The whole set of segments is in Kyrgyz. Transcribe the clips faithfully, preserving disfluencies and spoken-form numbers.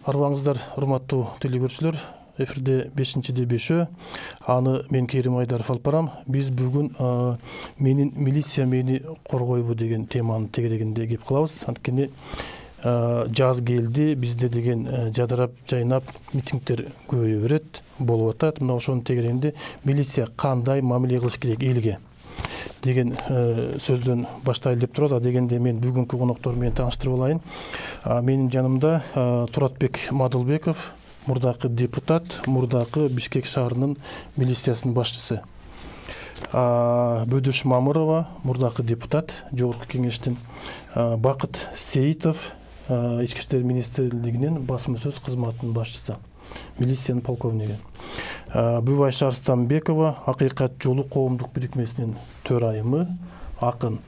Арбаңыздар, урматтуу телекөрүүчүлөр. Эфирде бешинчиде бешөө. Аны мен Керим Айдаров алып барам. Биз бүгүн менин милиция мени коргойбу деген теманы тегерегинде кеп кылабыз. Анткени жаз келди, бизде деген жадырап, жайнап митингдер көбөйө берет, болуп атат. Мына ошонун тегерегинде милиция кандай мамиле кылыш керек элге деген сөздөн баштайлы деп турат. А дегенде мен бүгүнкү коноктор менен тааныштырып алайын. Менин жанымда Туратбек Мадылбеков, мурдакы депутат, мурдакы Бишкек шаарынын милициясынын башчысы. Бөдөш Мамырова, мурдакы депутат, Жогорку кеңештин. Бакыт Сейитов, Ички иштер министрлигинин басма-сөз кызматынын башчысы, милициянын полковниги. Бүбайша Арстанбекова, Акыйкат жолу коомдук бирикмесинин төрайымы, акын.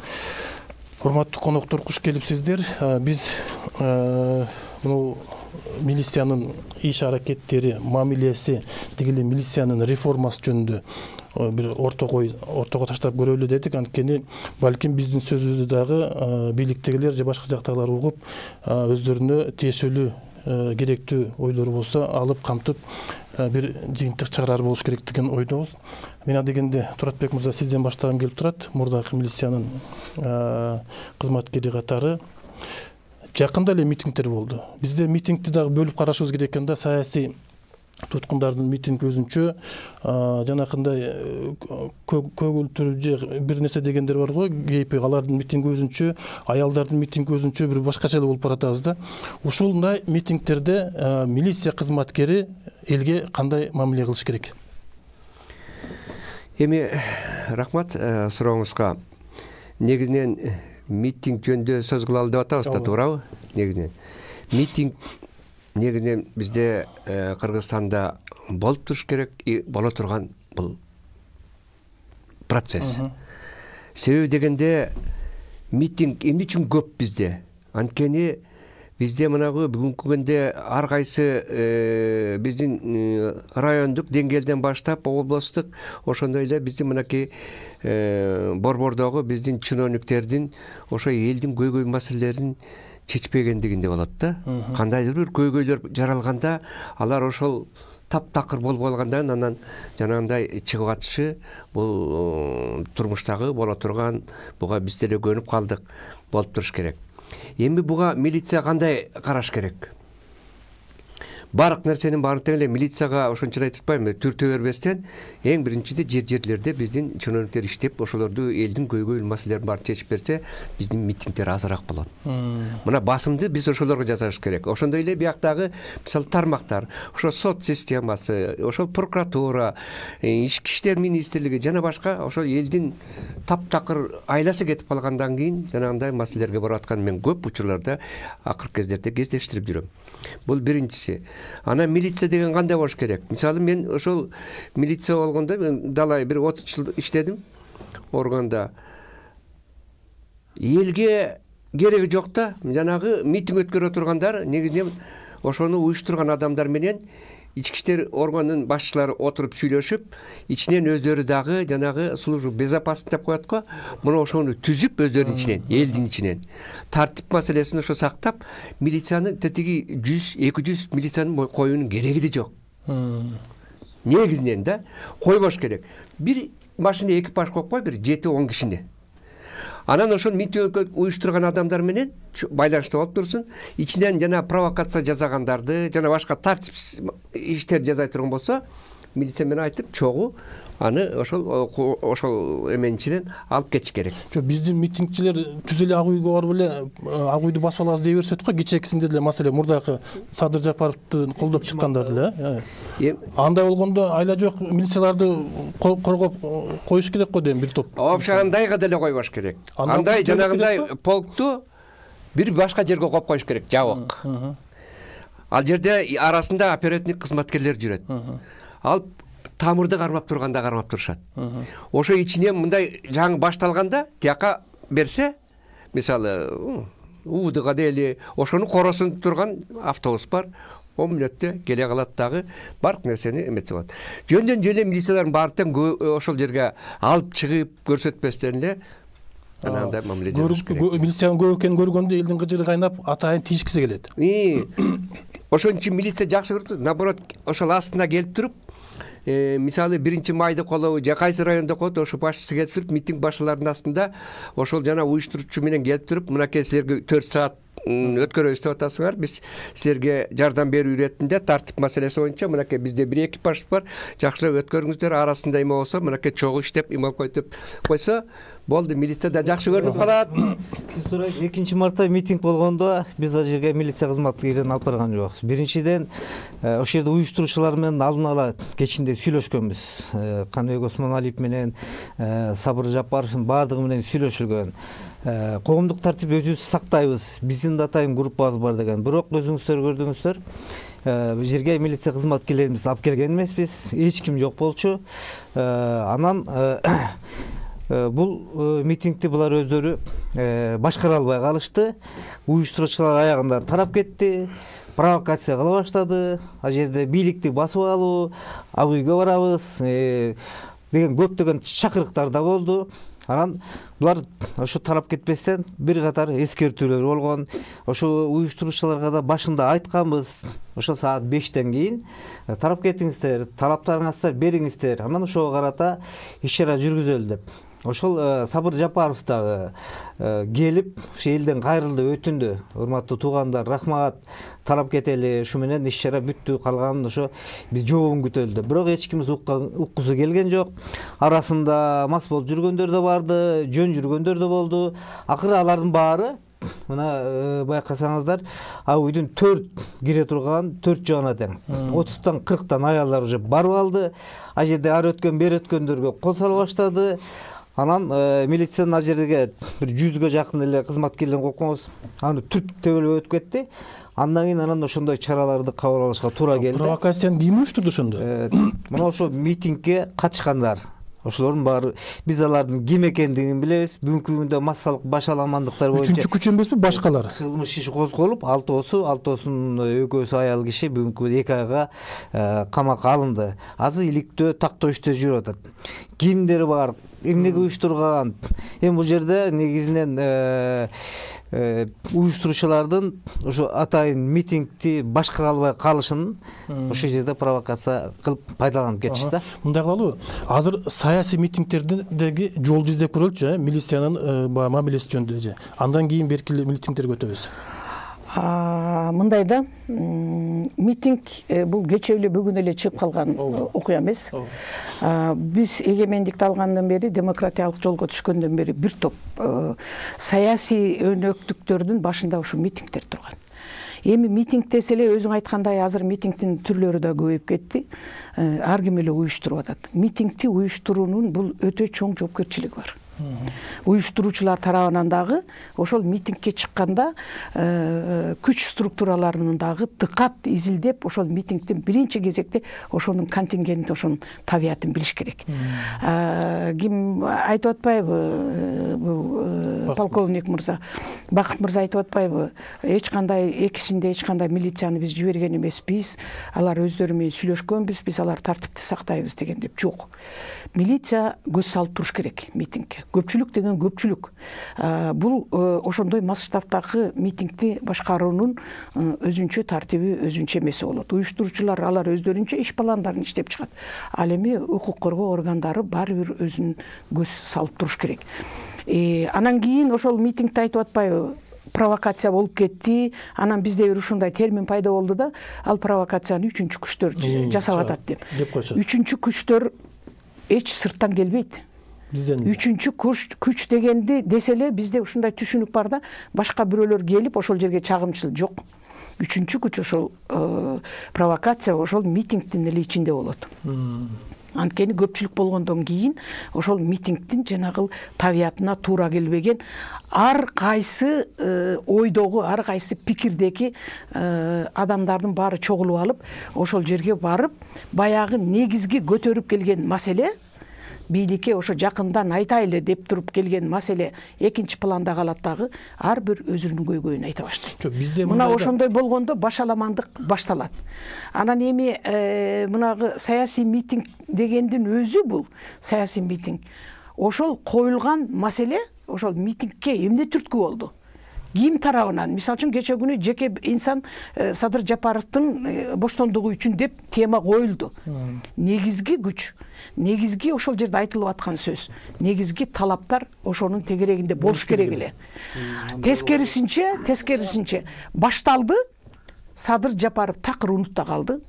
Урматтуу коноктор, куш келипсиздер. Биз мына милициянын иш аракеттери, мамилеси, тигиле милициянын реформасы жөнүндө бир ортого ортого таштап көрөлү дедик. Анткени балким биздин сөзүбүздү дагы бийликтегилер же башка жактагылар угуп, өздөрүнө тиешелүү керектүү ойлору болсо алып камтып бир жыйынтык чыгарар болуш керек деген ойдобуз. Мен адегенде Туратбек мырза, сизден баштагым келип турат. Мурдакы милициянын кызматкери катары жакында эле митингдер болду. Бизде митингди дагы бөлүп карашыбыз керек экен да. Саясий туткундардын митинг өзүнчө, жанакындай көгүлтүрүү же бир нерсе дегендер бар го, кейпи алардын митинги өзүнчө, аялдардын митинги өзүнчө, бир башкача эле болуп баратабыз да. Ушундай митингдерде милиция кызматкери элге кандай мамиле кылыш керек? Эми рахмат сурооңузга. Негизинен митинг жөнүндө сөз кылалы деп атабыз да, туурабы? Негизинен митинг негизинен бизде Кыргызстанда болуп туруш керек, и боло турган бул процесс. Себеби дегенде митинг эмне үчүн көп бизде? Анткени бизде мынагы бүгүнкү күндө ар кайсы биздин райондук деңгээлден баштап областтык, ошондой эле биздин мынакей борбордогу биздин чиновниктердин ошо элдин көйгөй маселелерин чечпегендигинде болот да. Кандайдыр бир көйгөйлөр жаралганда, алар ошол таптакыр болуп калгандан анан жанагындай чыгып атышы, бул турмуштагы боло турган, буга биз деле көнүп калдык, болуп туруш керек. Эми буга милиция кандай караш керек? Бардык нерсенин баарын тең эле милицияга ошончолой айтып атпайбы, түртө бербестен эң биринчиде жер-жерлерде биздин чиновниктер иштеп, ошолорду элдин көйгөй маселелерин баарын чечип берсе, биздин митингдер азыраак болот. Мына басымды биз ошолорго жасаш керек. Ошондой эле бияктагы мисалы тармактар, ошо сот системасы, ошол прокуратура, ички иштер министрлиги жана башка ошол элдин таптакыр айласы кетип калгандан кийин жанагындай маселелерге барып аткан мен көп учурларда акыркы кездерде кездештирип жүрөм. Бул биринчиси. Ана милиция деген кандай болуш керек? Мисалы мен ошол милиция болгондо мен далай бир отуз жыл иштедим органда. Элге кереги жок да, жанагы митинг өткөрө тургандар негизинен ошону уюштурган адамдар менен ички иштер органынын башчылары отуруп сүйлөшүп, ичинен өздөрү дагы жанагы служба безопасности деп коет го, муну ошону түзүп өздөрүнүн ичинен, элдин ичинен тартип маселесин ошо сактап, милициянын тетиги жүз эки жүз милициянын коюунун кереги да жок. Негизинен да койбош керек. Бир машина экипаж коюп кой, бир жети он кишини. Анан ошол митинг уюштурган адамдар менен байланышта болуп турсун. Ичинен жана провокация жасагандарды, жана башка тартип иштер жасай турган болсо, милиция менен айтып, чогуу аны ошол ошол эменин ичинен алып кетиш керек. Жок, биздин митингчилер түз эле ак үйгө барып эле ак үйдү басып алабыз дей беришет го. Кечээкисинде деле маселе мурдакы Садыр Жапаровду колдоп чыккандар деле. Андай болгондо айла жок милицияларды коргоп коюш керек го дейм, бир топ. Вообще андайга деле койбош керек. Андай жанагындай полкту бир башка жерге коюп коюш керек, жабык. Ал жерде арасында оперативник кызматкерлер жүрөт. Ал тамырды кармап турганда кармап турушат. Ошо ичинен мындай жаңы башталганда тияка берсе, мисалы Уудуга дели ошону коросун турган автобус бар, он мүнөттө келе калат дагы, бардык нерсени эметсе болот. Жөндөн жөн эле милициялардын баары тең ошол жерге алып чыгып көрсөтпөстөн эле анандай мамиле жасаш керек. Милициянын көп экенин көргөндө элдин кыжыры кайнап атайын тийишкиси келет. ошон үчүн милиция жакшы көрдү. Наоборот, ошол астына келип туруп, мисалы биринчи майда колобу же кайсы райондо кот ошо башчысы келип туруп, митинг башчыларынын астында ошол жана уюштуруучу менен келип туруп, мынакей силерге төрт саат өткөрөбүз деп атасыңар, биз силерге жардам берүү иретинде тартип маселеси боюнча мынакей бизде бир экипаж бар, жакшылап өткөрүңүздөр, арасында эме болсо мынакей чогуу иштеп эме коюп деп койсо болду, милиция да жакшы көрүнүп калат. Сиз турайт, экинчи мартта митинг болгондо биз ал жерге милиция кызматкерлерин алып барган жокпуз. Биринчиден ошол жерде уюштуруучулар менен алдын ала кечинде сүйлөшкөнбүз. Каныбек Осмоналиев менен Сабыр Жапаровдун баардыгы менен сүйлөшүлгөн. Коомдук тартип өзүбүз сактайбыз, биздин да атайын группабыз бар деген. Бирок өзүңүздөр көрдүңүздөр, бул жерге милиция кызматкерлерибизди алып келген эмеспиз, эч ким жок болчу. Анан бул митингди булар өздөрү башкара албай калышты. Уюштуруучулар аягында тарап кетти, провокация кыла баштады. Ал жерде бийликти басып алуу, ак үйгө барабыз деген көптөгөн чакырыктар да болду. Анан булар ошо тарап кетпестен бир катар эскертүүлөр болгон. Ошо уюштуруучуларга да башында айтканбыз, ошо саат бештен кийин тарап кетиңиздер, талаптарыңызды бериңиздер. Анан ошого карата иш-чара жүргүзөлү деп. Ошол Сабыр Жапаров дагы келип, ушу элден кайрылды, өтүндү. Урматтуу туугандар, рахмат, тарап кетели, ушу менен иш-чара бүттү, калганын ошо биз жообун күтөлү деп. Бирок эч ким уккусу келген жок. Арасында мас болуп жүргөндөр да барды, жөн жүргөндөр да болду. Акыры алардын баары мына байкасаңыздар, ак үйдүн төрт кире турган төрт жагына тең. отуздан кырктан аялдар уже барып алды. Ал жерде ары өткөн, бери өткөндөргө кол сала баштады. Анан милициянын ал жерге бир жүзгө жакын эле кызматкерлерин койгонбуз. Аны түрт төбөлөп өтүп кетти. Андан кийин анан ошондой чараларды кабыл алышка туура келди. Провокацияны ким уюштурду ошондо? Мына ошо митингге катышкандар. Ошолордун баары биз алардын ким экендигин билебиз. Бүгүнкү күндө массалык башаламандыктар боюнча үчүнчү күч эмеспи башкалар? Кылмыш иши козголуп, алтоосу, алтоосунун экөөсү аял киши бүгүнкү эки айга камакка алынды. Азыр иликтөө, тактоо иштөө жүрүп атат. Кимдер бар, эмнеге уюштурган? Эми бул жерде негизинен уюштуруучулардын ошо атайын митингди башкара албай калышын ошол жерде провокация кылып пайдаланып кетишти да. Мындай кылалы, азыр саясий митингтердеги жолду издеп көрөлүчү, милициянын баягы мамилеси жөнүндө же. Андан кийин берки митингтерге өтөбүз. Мындай да, митинг бул кечээ эле бүгүн эле чыгып калган окуя эмес. Биз эгемендикти алгандан бери, демократиялык жолго түшкөндөн бери бир топ саясий өнөктүктөрдүн башында ушу митингдер турган. Эми митинг десе эле өзүң айткандай азыр митингдин түрлөрү да көбөйүп кетти. Ар ким эле уюштуруп атат. Митингди уюштуруунун бул өтө чоң жоопкерчилиги бар. Уюштуруучулар тарабынан дагы ошол митингке чыкканда күч структураларынын дагы дыкат изилдеп, ошол митингдин биринчи кезекте ошонун контингентин, ошонун табиятын билиш керек. Ким айтып атпайбы, бул полковник мырза, Бакыт мырза айтып атпайбы, эч кандай экисинде эч кандай милицияны биз жиберген эмеспиз, алар өздөрү менен сүйлөшкөнбүз, биз алар тартипти сактайбыз деген деп. Жок. Милиция көз салып туруш керек митингке. Көпчүлүк деген көпчүлүк. Бул ошондой масштабтагы митингди башкаруунун өзүнчө тартиби, өзүнчө эмеси болот. Уюштуруучулар алар өздөрүнчө иш пландарын иштеп чыгат. Ал эми укук коргоо органдары баары бир өзүн көз салып туруш керек. Анан кийин ошол митингди айтып атпайбы, провокация болуп кетти. Анан бизде бир ушундай термин пайда болду да, ал провокацияны үчүнчү күчтөр жасап атат деп. Үчүнчү күчтөр эч сырттан келбейт. Үчүнчү күч дегенди десе эле бизде ушундай түшүнүк бар да, башка бирөөлөр келип ошол жерге чагымчыл жок. Үчүнчү күч ошол провокация ошол митингдин эле ичинде болот. Анткени көпчүлүк болгондон кийин ошол митингдин жанагы табиятына туура келбеген ар кайсы ойдогу, ар кайсы пикирдеги адамдардын баары чогулуп алып, ошол жерге барып, баягы негизги көтөрүп келген маселе, бийликке ошо жакындан айтайлы деп туруп келген маселе экинчи планда калат дагы, ар бир өзүнүн көйгөйүн айта баштайт. Мына ошондой болгондо башаламандык башталат. Анан эми мынагы саясий митинг дегендин өзү бул саясий митинг. Ошол коюлган маселе ошол митингке эмне түрткү болду? ким тарабынан, мисалы үчүн кече күнү жеке инсан Садыр Жапаровдун боштондугу үчүн деп тема коюлду. Негизги күч, негизги ошол жерде айтылып аткан сөз, негизги талаптар ошонун тегерегинде болуш керек эле. Тескерисинче, тескерисинче башталды, Садыр Жапаров такыр унутта калды.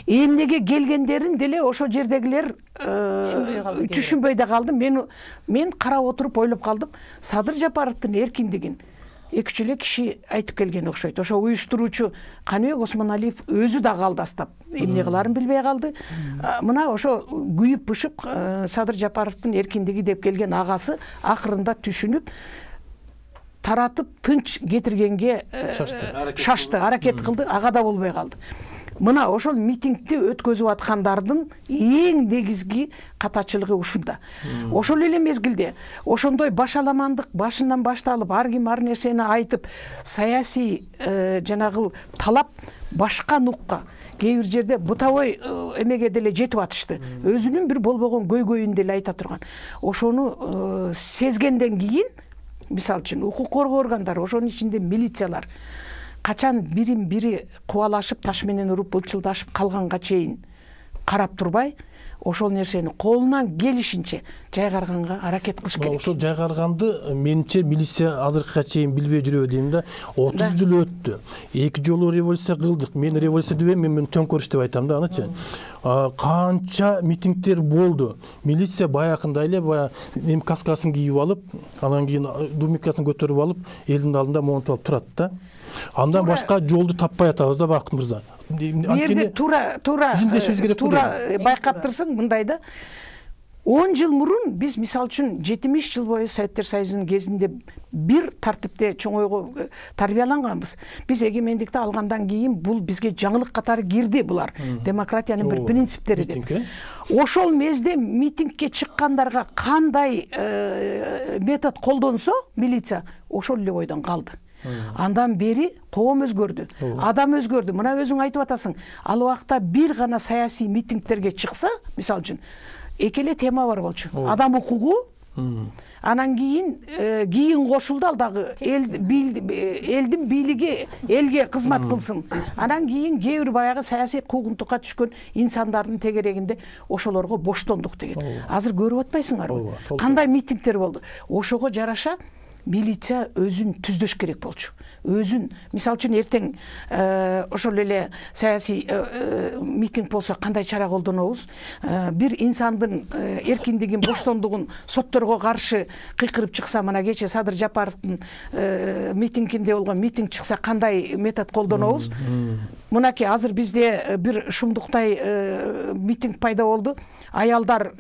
Эмнеге келгендерин деле ошол жердегилер түшүнбөй да калды. Мен мен карап отуруп ойлоп калдым. Садыр Жапаровдун эркиндигин эки үч эле киши айтып келген окшойт. Ошо уюштуруучу Каныбек Осмоналиев өзү да калдастап, эмне кыларын билбей калды. Мына ошо күйүп бышып Садыр Жапаровдун эркиндиги деп келген агасы акырында түшүнүп, таратып тынч кетиргенге шашты, аракет кылды, ага да болбой калды. Мына ошол митингди өткөзүп аткандардын эң негизги катачылыгы ушунда. Ошол эле мезгилде ошондой башаламандык башынан башталып, ар ким ар нерсени айтып, саясий жанагы талап башка нукка, кээ бир жерде бытовой эмеге деле жетип атышты. Өзүнүн бир болбогон көйгөйүн деле айта турган. Ошону сезгенден кийин, мисалы үчүн укук коргоо органдары, ошонун ичинде милициялар качан бирин бири кубалашып, таш менен уруп, былчылдашып калганга чейин карап турбай, ошол нерсени колунан келишинче жайгарганга аракет кылыш керек. Ошол жайгарганды менимче милиция азыркыга чейин билбей жүрөбү дейм да. отуз жыл өттү. Эки жолу революция кылдык. Мен революция дебем, мен төңкөрүш деп айтам да, анычы. Канча митингдер болду. Милиция баягындай эле баягы эми каскасын кийип алып, анан кийин думикасын көтөрүп алып, элдин алдында монтуп алып турат да. Андан башка жолду таппай атабыз да, Бакыт мырза. Бу жерде туура туура туура байкап турсаң, мындай да. он жыл мурун биз мисалы үчүн жетимиш жыл бою Советтер Союзунун кезинде бир тартипте чоңойго тарбияланганбыз. Биз эгемендикти алгандан кийин бул бизге жаңылык катары кирди булар. Демократиянын бир принциптери деп. Ошол мезде митингке чыккандарга кандай метод колдонсо милиция, ошол эле бойдон калды. Андан бери коом өзгөрдү, адам өзгөрдү. Мына өзүң айтып атасың, ал убакта бир гана саясий митингтерге чыкса, мисалы үчүн, эки эле тема бар болчу. Адам укугу, анан кийин кийин кошулду, ал дагы элдин бийлиги элге кызмат кылсын. Анан кийин кээ бир баягы саясий куугунтукка түшкөн инсандардын тегерегинде ошолорго боштондук деген. Азыр көрүп атпайсыңарбы? Кандай митингтер болду? Ошого жараша милиция өзүн түздөш керек болчу. Өзүн, мисалы үчүн эртең ошол эле саясий митинг болсо кандай чара колдонобуз? Бир инсандын эркиндигин, боштондугун сотторго каршы кыйкырып чыкса, мына кече Садыр Жапаровдун митингинде болгон митинг чыкса кандай метод колдонобуз? Мынакей азыр бизде бир шумдуктай митинг пайда болду. Аялдар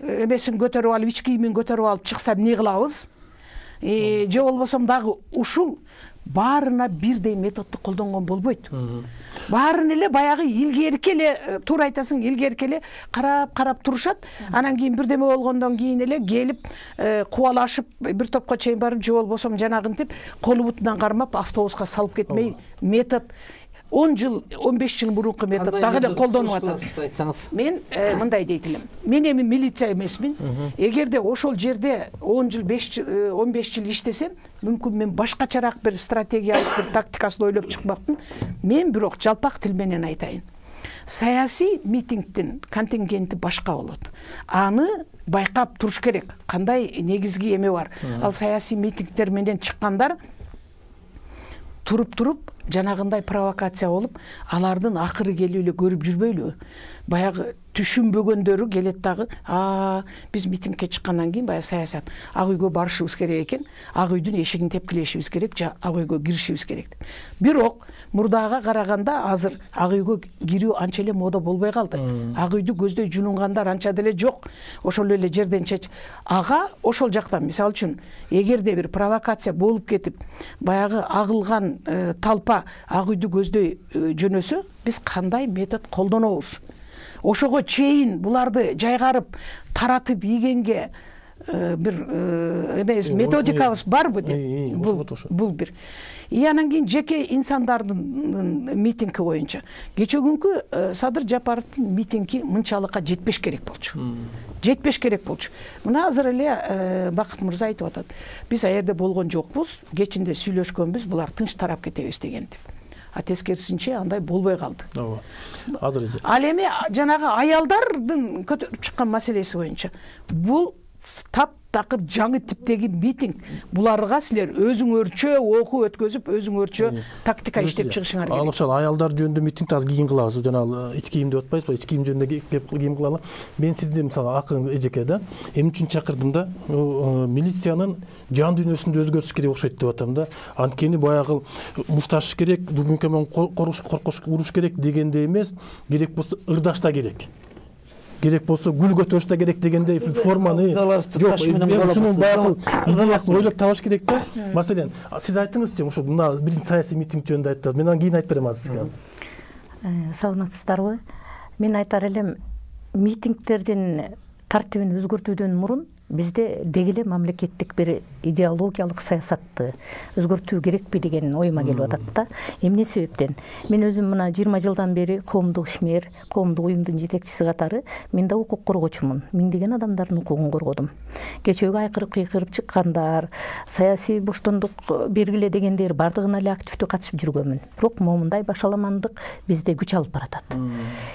эмесин көтөрүп алып, ич кийимин көтөрүп алып чыкса эмне кылабыз? Же болбосом дагы ушул баарына бирдей методду колдонгон болбойт. Баарын эле баягы илгерки эле, туура айтасың, илгерки эле карап-карап турушат. Анан кийин бирдеме болгондон кийин эле келип кубалашып бир топко чейин барып, же болбосом жанагынтип колу бутунан кармап автобуска салып кетмей метод он жыл, он беш жыл мурунку метод дагы эле колдонуп атат. Мен мындай дейт элем. Мен эми милиция эмесмин. Эгерде ошол жерде он жыл, беш жыл, он беш жыл иштесем, мүмкүн мен башкачараак бир стратегиялык бир тактикасын ойлоп чыкмакмын. Мен бирок жалпак тил менен айтайын. Саясий митингдин контингенти башка болот. Аны байкап туруш керек. Кандай негизги эме бар? Ал саясий митингдер менен чыккандар туруп-туруп жанагындай провокация болуп, алардын акыры келип эле көрүп жүрбөйлүбү? Баягы түшүнбөгөндөрү келет дагы, а биз митингке чыккандан кийин баягы саясат, ак үйгө барышыбыз керек экен, ак үйдүн эшигин тепкилешибиз керек, же ак үйгө киришибиз керек. Бирок мурдага караганда азыр ак үйгө кирүү анча эле мода болбой калды. Ак үйдү көздөй жунунгандар анча деле жок. Ошол эле жерден чеч. Ага ошол жактан, мисалы үчүн, эгерде бир провокация болуп кетип, баягы агылган талпа ак үйдү көздөй жөнөсө, биз кандай метод колдонобуз? Ошого чейин буларды жайгарып, таратып ийгенге бир эмес методикабыз барбы деп. Бул бир. И анан кийин жеке инсандардын митинги боюнча кечээ күнкү Садыр Жапаровдун митинги мынчалыкка жетпеш керек болчу. Жетпеш керек болчу. Мына азыр эле Бакыт мырза айтып атат. Биз а жерде болгон жокпуз, кечинде сүйлөшкөнбүз, булар тынч тарап кетебиз деген деп. А тескерисинче андай болбой калды. Ооба. Азыр ал эми жанагы аялдардын көтөрүп чыккан маселеси боюнча бул тап такыр жаңы типтеги митинг. Буларга силер өзүңөрчө окуу өткөзүп, өзүңөрчө тактика иштеп чыгышыңар керек. Ал ошол аялдар жөнүндө митингди азыр кийин кылабыз. Жана ич кийим деп атпайбызбы? Ич кийим жөнүндө кеп кийим кылалы. Мен сизди мисалы акын эжеке да эмне үчүн чакырдым да, милициянын жан дүйнөсүндө өзгөрүш керек окшойт деп атам да. Анткени баягы мушташ керек, дүгүнкөмөн коркуш, коркуш, уруш керек дегенде эмес, керек болсо ырдашта керек. Керек болсо гүл көтөрүш да керек дегендей форманы жок, ушунун баягы идеясын ойлоп табыш керек да. Маселен, сиз айтыңызчы, ошо мына биринчи саясий митинг жөнүндө айттыңыз. Мен анан кийин айтып берем азыр сизге. Саламатсыздарбы? Мен айтар элем, митингтердин тартибин өзгөртүүдөн мурун бизде деги эле мамлекеттик бир идеологиялык саясатты өзгөртүү керекпи деген оюма келип атат да. Эмне себептен? Мен өзүм мына жыйырма жылдан бери коомдук ишмер, коомдук уюмдун жетекчиси катары мен да укук коргоочумун. Миңдеген адамдардын укугун коргодум. Кечөөкү айкырып кыйкырып чыккандар, саясий боштондук бергиле дегендер бардыгына эле активдүү катышып жүргөнмүн. Бирок момундай башаламандык бизде күч алып баратат.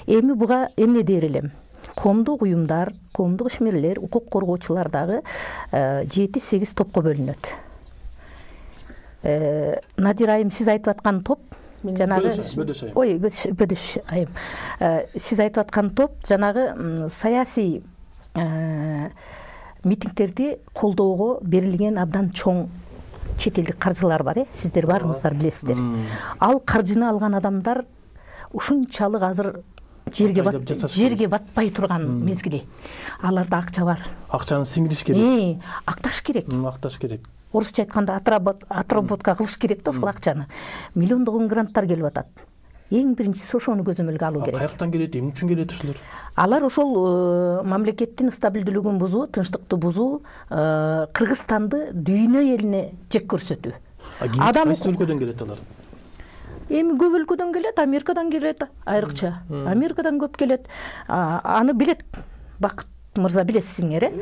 Эми буга эмне дер элем? Коомдук уюмдар, коомдук ишмерлер, укук коргоочулар дагы жети сегиз топко бөлүнөт. Надир айым, сиз айтып аткан топ жанагы ой, бөдөш айым. Сиз айтып аткан топ жанагы саясий митингтерди колдоого берилген абдан чоң чет элдик каржылар бар, э? Сиздер баарыңыздар билесиздер. Ал каржыны алган адамдар ушунчалык азыр жерге бат жерге батпай турган мезгили. Аларда акча бар. Акчаны сиңириш керек. Э, акташ керек. Акташ керек. Орусча айтканда отработка кылыш керек да ошол акчаны. Миллиондогон гранттар келип атат. Эң биринчиси ошону көзөмөлгө алуу керек. Каяктан келет, эмне үчүн келет ушулар? Алар ошол мамлекеттин стабилдүүлүгүн бузуу, тынчтыкты бузуу, Кыргызстанды дүйнө элине жек көрсөтүү. Адам кайсы өлкөдөн келет алар? Эми көп өлкөдөн келет, Америкадан келет, айрыкча. Америкадан көп келет. Аны билет Бакыт мырза, билесиңер, э?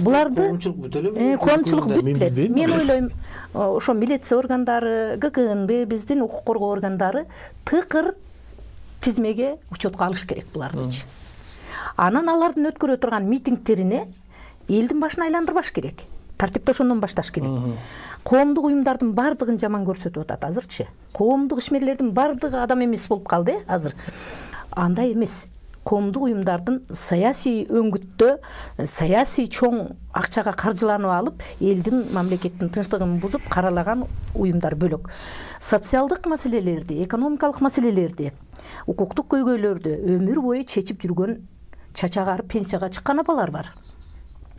Буларды коомчулук бүт эле. Коомчулук бүт билет. Мен ойлойм, ошо милиция органдары, гэ ка эн бэ, биздин укук коргоо органдары тыкыр тизмеге учетко алыш керек булардычы. Анан алардын өткөрө турган митингтерине элдин башын айландырбаш керек. Тартипти ошондон башташ керек. Коомдук уюмдардын бардыгын жаман көрсөтүп атат азырчы. Коомдук ишмерлердин бардыгы адам эмес болуп калды, э, азыр. Андай эмес. Коомдук уюмдардын саясий өңгүттө, саясий чоң акчага каржыланып алып, элдин мамлекеттин тынчтыгын бузуп каралаган уюмдар бөлөк. Социалдык маселелерди, экономикалык маселелерди, укуктук көйгөйлөрдү өмүр бою чечип жүргөн чачагары пенсияга чыккан апалар бар.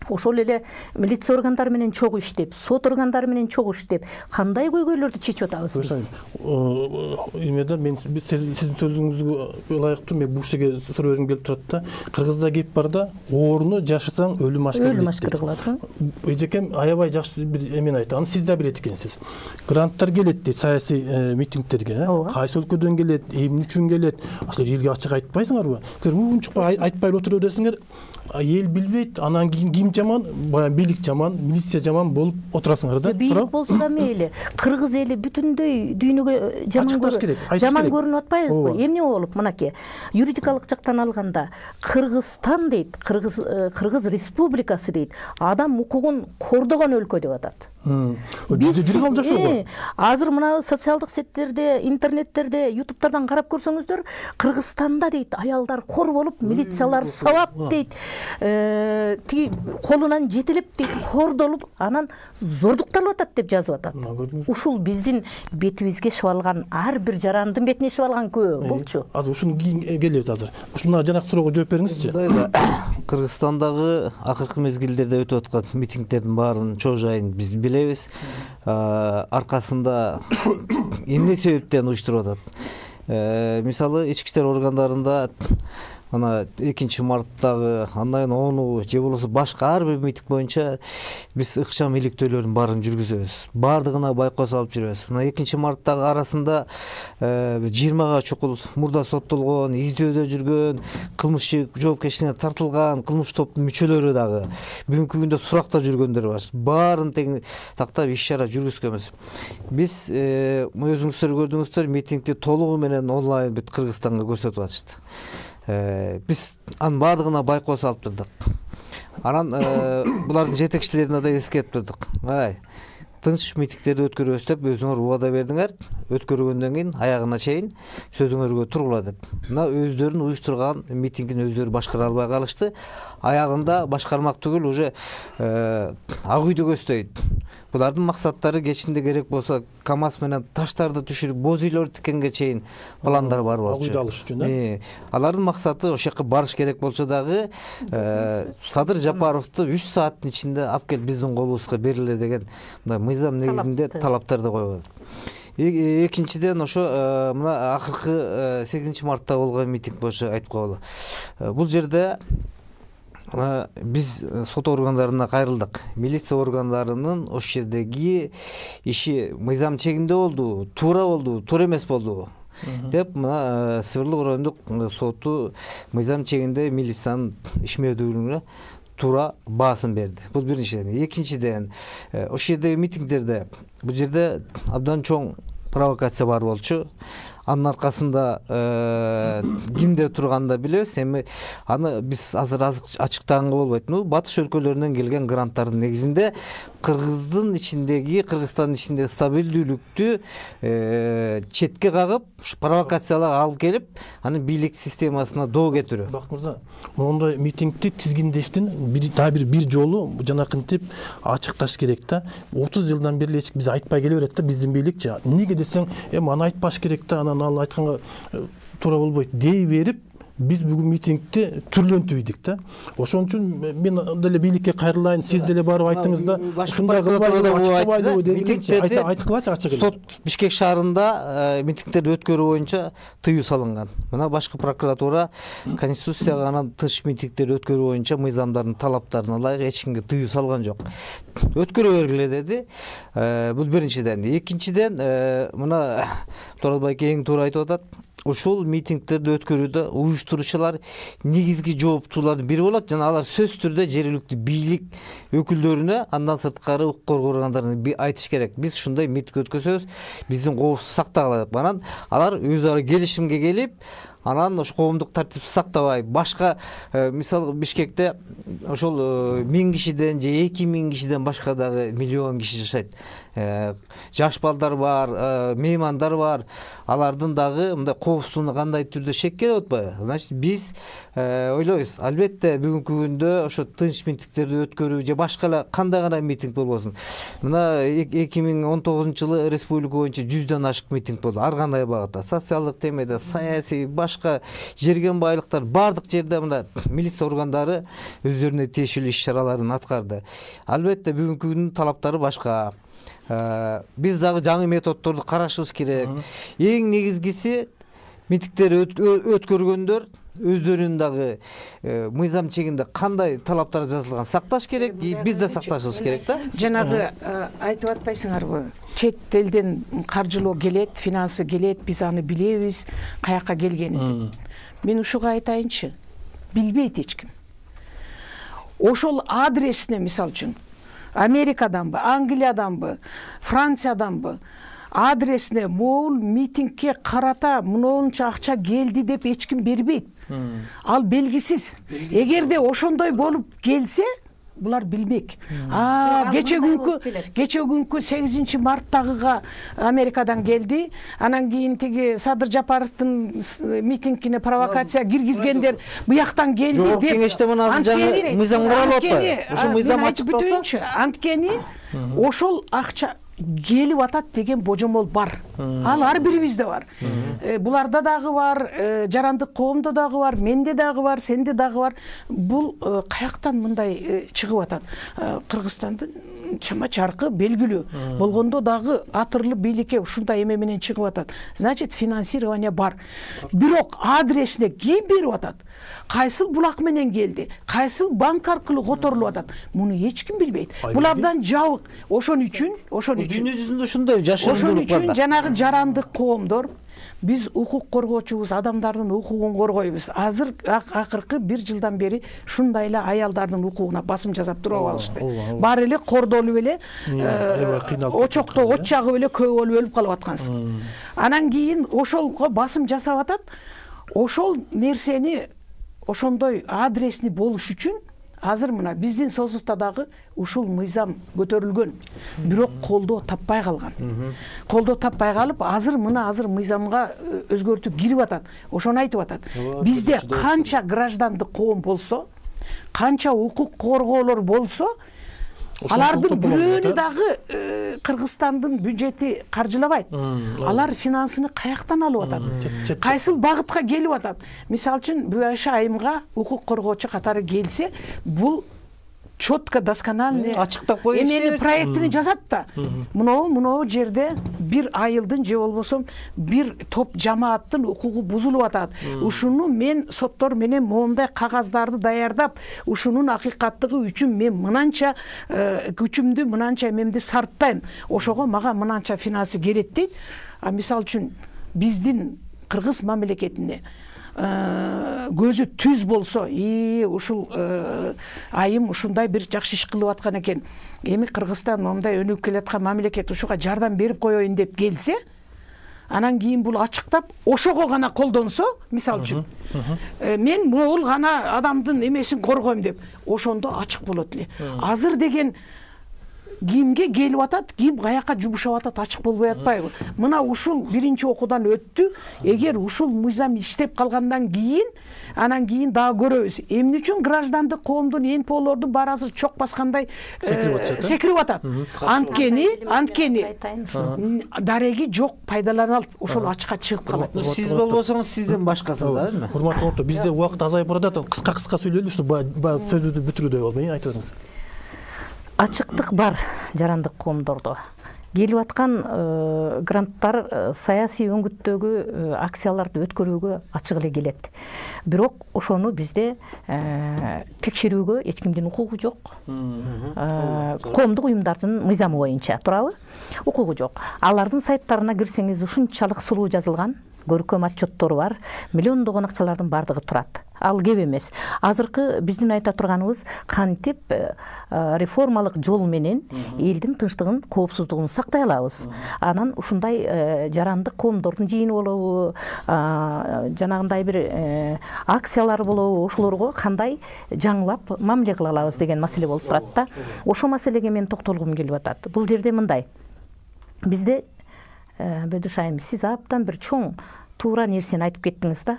Ошол эле милиция органдары менен чогуу иштеп, сот органдары менен чогуу иштеп, кандай көйгөйлөрдү чечип атабыз биз? Эмеде мен сиздин сөзүңүзгө ылайыктуу мен бул жерге суроо бергим келип турат да. Кыргызда кеп бар да, ооруну жашасаң өлүм ашкыр. Өлүм ашкыр кылат. Эжекем аябай жакшы бир эмени айтты. Аны сиз да билет экенсиз. Гранттар келет дейт саясий митингтерге. Кайсы өлкөдөн келет, эмне үчүн келет? Аслы элге ачык айтпайсыңарбы? Силер унчукпай айтпай отуруп бересиңер. Эл билбейт, анан кийин ким жаман, баягы бийлик жаман, милиция жаман болуп отурасыңар да. Бийлик болсо да мейли. Кыргыз эли бүтүндөй дүйнөгө жаман көрүнүп, жаман көрүнүп атпайбызбы? Эмне болуп, мынакей, юридикалык жактан алганда Кыргызстан дейт, Кыргыз Кыргыз Республикасы дейт, адам укугун кордогон өлкө деп атат. Биз азыр мына социалдык сеттерде, интернеттерде, ютубтардан карап көрсөңүздөр, Кыргызстанда дейт, аялдар кор болуп, милициялар сабап дейт, тиги колунан жетелеп дейт, кордолуп, анан зордукталып атат деп жазып атат. Ушул биздин бетибизге шыбалган, ар бир жарандын бетине шыбалган күбө болчу. Азыр ушуну кийин келебиз азыр. Ушуна жанакы суроого жооп бериңизчи. Кыргызстандагы акыркы мезгилдерде өтүп аткан митингтердин баарынын чоо жайын биз билебиз. Аркасында эмне себептен уюштуруп атат? Мисалы, ички иштер органдарында ана экинчи марттагы андан ону же болбосо башка ар бир митинг боюнча биз ыкчам иликтөөлөрдүн баарын жүргүзөбүз, баардыгына байкоо салып жүрөбүз. Мына экинчи марттагы арасында жыйырмага чукул мурда соттолгон, издөөдө жүргөн, кылмыш жоопкерчиликке тартылган кылмыш топтун мүчөлөрү дагы бүгүнкү күндө суракта жүргөндөр бар. Баарын тең тактап иш чара жүргүзгөнбүз. Биз өзүңүздөр көрдүңүздөр, митингди толугу менен онлайн бүт Кыргызстанга көрсөтүп атышты. Биз анын баардыгына байкоо салып турдук. Анан булардын жетекчилерине да эскертип турдук. Ай, тынч митингдерди өткөрөбүз деп өзүңөр убада бердиңер. Өткөргөндөн кийин аягына чейин сөзүңөргө тургула деп. Мына өздөрүн уюштурган митингин өздөрү башкара албай калышты. Аягында башкармак түгүл уже ак үйдү көздөйт. Булардын максаттары кечинде керек болсо КАМАЗ менен таштарды түшүрүп, боз үйлөр тиккенге чейин пландар бар болчу. Ак үйдү алыш үчүн, э? Алардын максаты ошол жака барыш керек болчу дагы Садыр Жапаровду үч сааттын ичинде алып келип биздин колубузга бериле деген мындай мыйзам негизинде талаптарды коюп атат. Экинчиден ошо мына акыркы сегизинчи мартта болгон митинг боюнча айтып коелу. Бул жерде биз сот органдарына кайрылдык. Милиция органдарынын ошол жердеги иши мыйзам чегинде болду, туура болду, туура эмес болду деп мына Сырлы райондук соту мыйзам чегинде милициянын ишмердүүлүгүнө туура баасын берди. Бул биринчиден. Экинчиден, ошол жердеги митингдерде бул жерде абдан чоң провокация бар болчу. Анын аркасында кимдер турганын да билебиз. Эми аны биз азыр ачыктаганга болбойт. Ну, батыш өлкөлөрүнөн келген гранттардын негизинде Кыргыздын ичиндеги, Кыргызстандын ичиндеги стабилдүүлүктү четке кагып, провокацияларга алып келип, аны бийлик системасына доо кетирүү. Бакыт мырза, моундай митингди тизгиндештин бир дагы бир бир жолу жанакынтип ачыкташ керек да. отуз жылдан бери эч биз айтпай келе берет да биздин бийликчи. Неге десең, эми аны айтпаш керек да, анан ал айтканга туура болбойт дей берип, биз бүгүн митингди түрлөнтүп да. Ошон үчүн мен деле бийликке кайрылайын, сиз деле барып айтыңыз да. Ушундай кылбайлы митингдерди айткылачы ачык эле. Сот Бишкек шаарында митингдерди өткөрүү боюнча тыюу салынган. Мына башкы прокуратура Конституцияга анан тынч митингдерди өткөрүү боюнча мыйзамдардын талаптарына ылайык эч кимге тыюу салган жок. Өткөрө бергиле деди. Бул биринчиден. Экинчиден, мына Туралбек эң туура айтып атат. Ушул митингдерди өткөрүүдө уюштуруучулар негизги жооптуулардын бири болот жана алар сөзсүз түрдө жергиликтүү бийлик өкүлдөрүнө, андан сырткары укук коргоо органдарына айтыш керек. Биз ушундай митинг өткөзөбүз, биздин коопсуздук сактагыла деп. Анан алар өз ара келишимге келип, анан ошо коомдук тартипти сактабай, башка мисалы Бишкекте ошол миң кишиден же эки миң кишиден башка дагы миллион киши жашайт. Жаш балдар бар, меймандар бар. Алардын дагы мындай коопсуздугуна кандай түрдө шек келип атпайбы? Значит, биз ойлойбуз, албетте бүгүнкү күндө ошо тынч митингдерди өткөрүү же башка эле кандай гана митинг болбосун. Мына эки миң он тогузунчу жылы республика боюнча жүздөн ашык митинг болду. Ар кандай багытта, социалдык темеде, саясий, башка жерген байлыктар бардык жерде мына милиция органдары өздөрүнө тиешелүү иш чараларын аткарды. Албетте бүгүнкү күндүн талаптары башка. Биз дагы жаңы методдорду карашыбыз керек. Эң негизгиси митингдерди өткөргөндөр өздөрүнүн дагы мыйзам чегинде кандай талаптар жазылган сакташ керек, биз да сакташыбыз керек да. Жанагы айтып атпайсыңарбы? Чет элден каржылоо келет, финансы келет, биз аны билебиз, каяка келгенин. Мен ушуга айтайынчы, билбейт эч ким. Ошол адресине мисалы үчүн Америкаданбы, Англияданбы, Франциyadanбы адресине могул митингке карата мынонча акча келди деп эч ким бербейт. Ал белгисиз. Эгерде ошондой болуп келсе, булар билбек. А, кече күнкү, кече күнкү сегизинчи марттагыга Америкадан келди. Анан кийин тиги Садыр Жапаровдун митингине провокация киргизгендер буяктан келди деп. Жогорку кеңеште мына жаңы мыйзам каралып атпайбы? Ошо мыйзам ачыкталса, анткени ошол акча келип атат деген божомол бар. Ал ар бирибизде бар. Буларда дагы бар, жарандык коомдо дагы бар, менде дагы бар, сенде дагы бар. Бул каяктан мындай чыгып атат? Кыргызстандын чама чаркы белгилүү болгондо дагы атырлы бийликке ушундай эме менен чыгып атат. Значит, финансирование бар. Бирок адресине ким берип атат? Кайсыл булак менен келди? Кайсыл банк аркылуу которулуп атат? Муну эч ким билбейт. Булардан жабык. Ошон үчүн, ошон үчүн дүйнө жүзүндө ушундай жашырундуулук бар. Ошон үчүн жанагы жарандык коомдор биз укук коргоочубуз, адамдардын укугун коргойбуз. Азыр акыркы бир жылдан бери ушундай эле аялдардын укугуна басым жасап туруп алышты. Баары эле кордолуп эле очокто от жагып эле көп болуп өлүп калып аткансың. Анан кийин ошолго басым жасап атат. Ошол нерсени ошондой адресни болуш үчүн азыр мына биздин созувта дагы ушул мыйзам көтөрүлгөн. Бирок колдоо таппай калган. Колдоо таппай калып, азыр мына азыр мыйзамга өзгөртүү кирип атат. Ошону айтып атат. Бизде канча граждандык коом болсо, канча укук коргоолор болсо, алардын бирөөнү дагы Кыргызстандын бюджети каржылабайт. Алар финансыны каяктан алып атат? Кайсыл багытка келип атат? Мисалы үчүн Бүбайша айымга укук коргоочу катары келсе, бул четко доскональный ачыктап коюш керек. Эмени проектини жазат да. Мынау мынау жерде бир айылдын же болбосо бир топ жамааттын укугу бузулуп атат. Ушуну мен соттор менен моундай кагаздарды даярдап, ушунун акыйкаттыгы үчүн мен мынанча күчүмдү, мынанча эмемди сарптайм. Ошого мага мынанча финансы керек дейт. А мисалы үчүн биздин кыргыз мамлекетине көзү түз болсо, и ушул айым ушундай бир жакшы иш кылып аткан экен. Эми Кыргызстан мындай өнүгүп келаткан мамлекет, ушуга жардам берип коеюн деп келсе, анан кийин бул ачыктап ошого гана колдонсо, мисалы үчүн, мен могул гана адамдын эмесин коргойм деп, ошондо ачык болот эле. Азыр деген кимге келип атат, ким каяка жумшап атат, ачык болбой атпайбы? Мына ушул биринчи окуудан өттү. Эгер ушул мыйзам иштеп калгандан кийин, анан кийин дагы көрөбүз. Эмне үчүн граждандык коомдун эн полордун баары азыр чок баскандай секирип атат? Анткени, анткени дареги жок, пайдаланылат, ошол ачыкка чыгып калат. Сиз болбосоңуз сизден башкасы да, эми? Урматтуу орто, бизде убакыт азайып баратат. Кыска-кыска сүйлөйлү, ушу сөзүбүздү бүтүрүүдөй болбой, айтып атыңыз. Ачыктык бар жарандык коомдордо. Келип аткан гранттар саясий өңгүттөгү акцияларды өткөрүүгө ачык эле келет. Бирок ошону бизде текшерүүгө эч кимдин укугу жок. Коомдук уюмдардын мыйзамы боюнча турабы? Укугу жок. Алардын сайттарына кирсеңиз ушунчалык сулуу жазылган, көркөм отчеттору бар, миллиондогон акчалардын бардыгы турат. Ал кеп эмес. Азыркы биздин айта турганыбыз кантип реформалык жол менен элдин тынчтыгын, коопсуздугун сактай алабыз. Анан ушундай жарандык коомдордун жыйыны болобу, жанагындай бир акциялар болобу, ошолорго кандай жаңылап мамиле кыла алабыз деген маселе болуп турат да. Ошо маселеге мен токтолгум келип атат. Бул жерде мындай. Бизде Бөдөш айым, сиз абдан бир чоң туура нерсени айтып кеттиңиз да.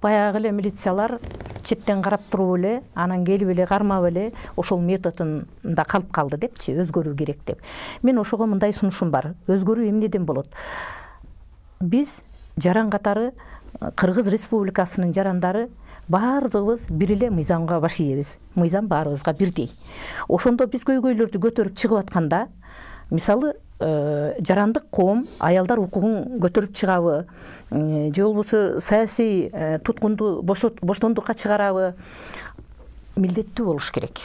Баягы эле милициялар четтен карап туруп эле, анан келип эле кармап эле ошол методунда калып калды депчи, өзгөрүү керек деп. Мен ошого мындай сунушум бар. Өзгөрүү эмнеден болот? Биз жаран катары Кыргыз Республикасынын жарандары баардыгыбыз бир эле мыйзамга баш ийебиз. Мыйзам баарыбызга бирдей. Ошондо биз көйгөйлөрдү көтөрүп чыгып атканда, мисалы жарандык коом аялдар укугун көтөрүп чыгабы, же болбосо саясий туткунду боштондукка чыгарабы, милдеттүү болуш керек.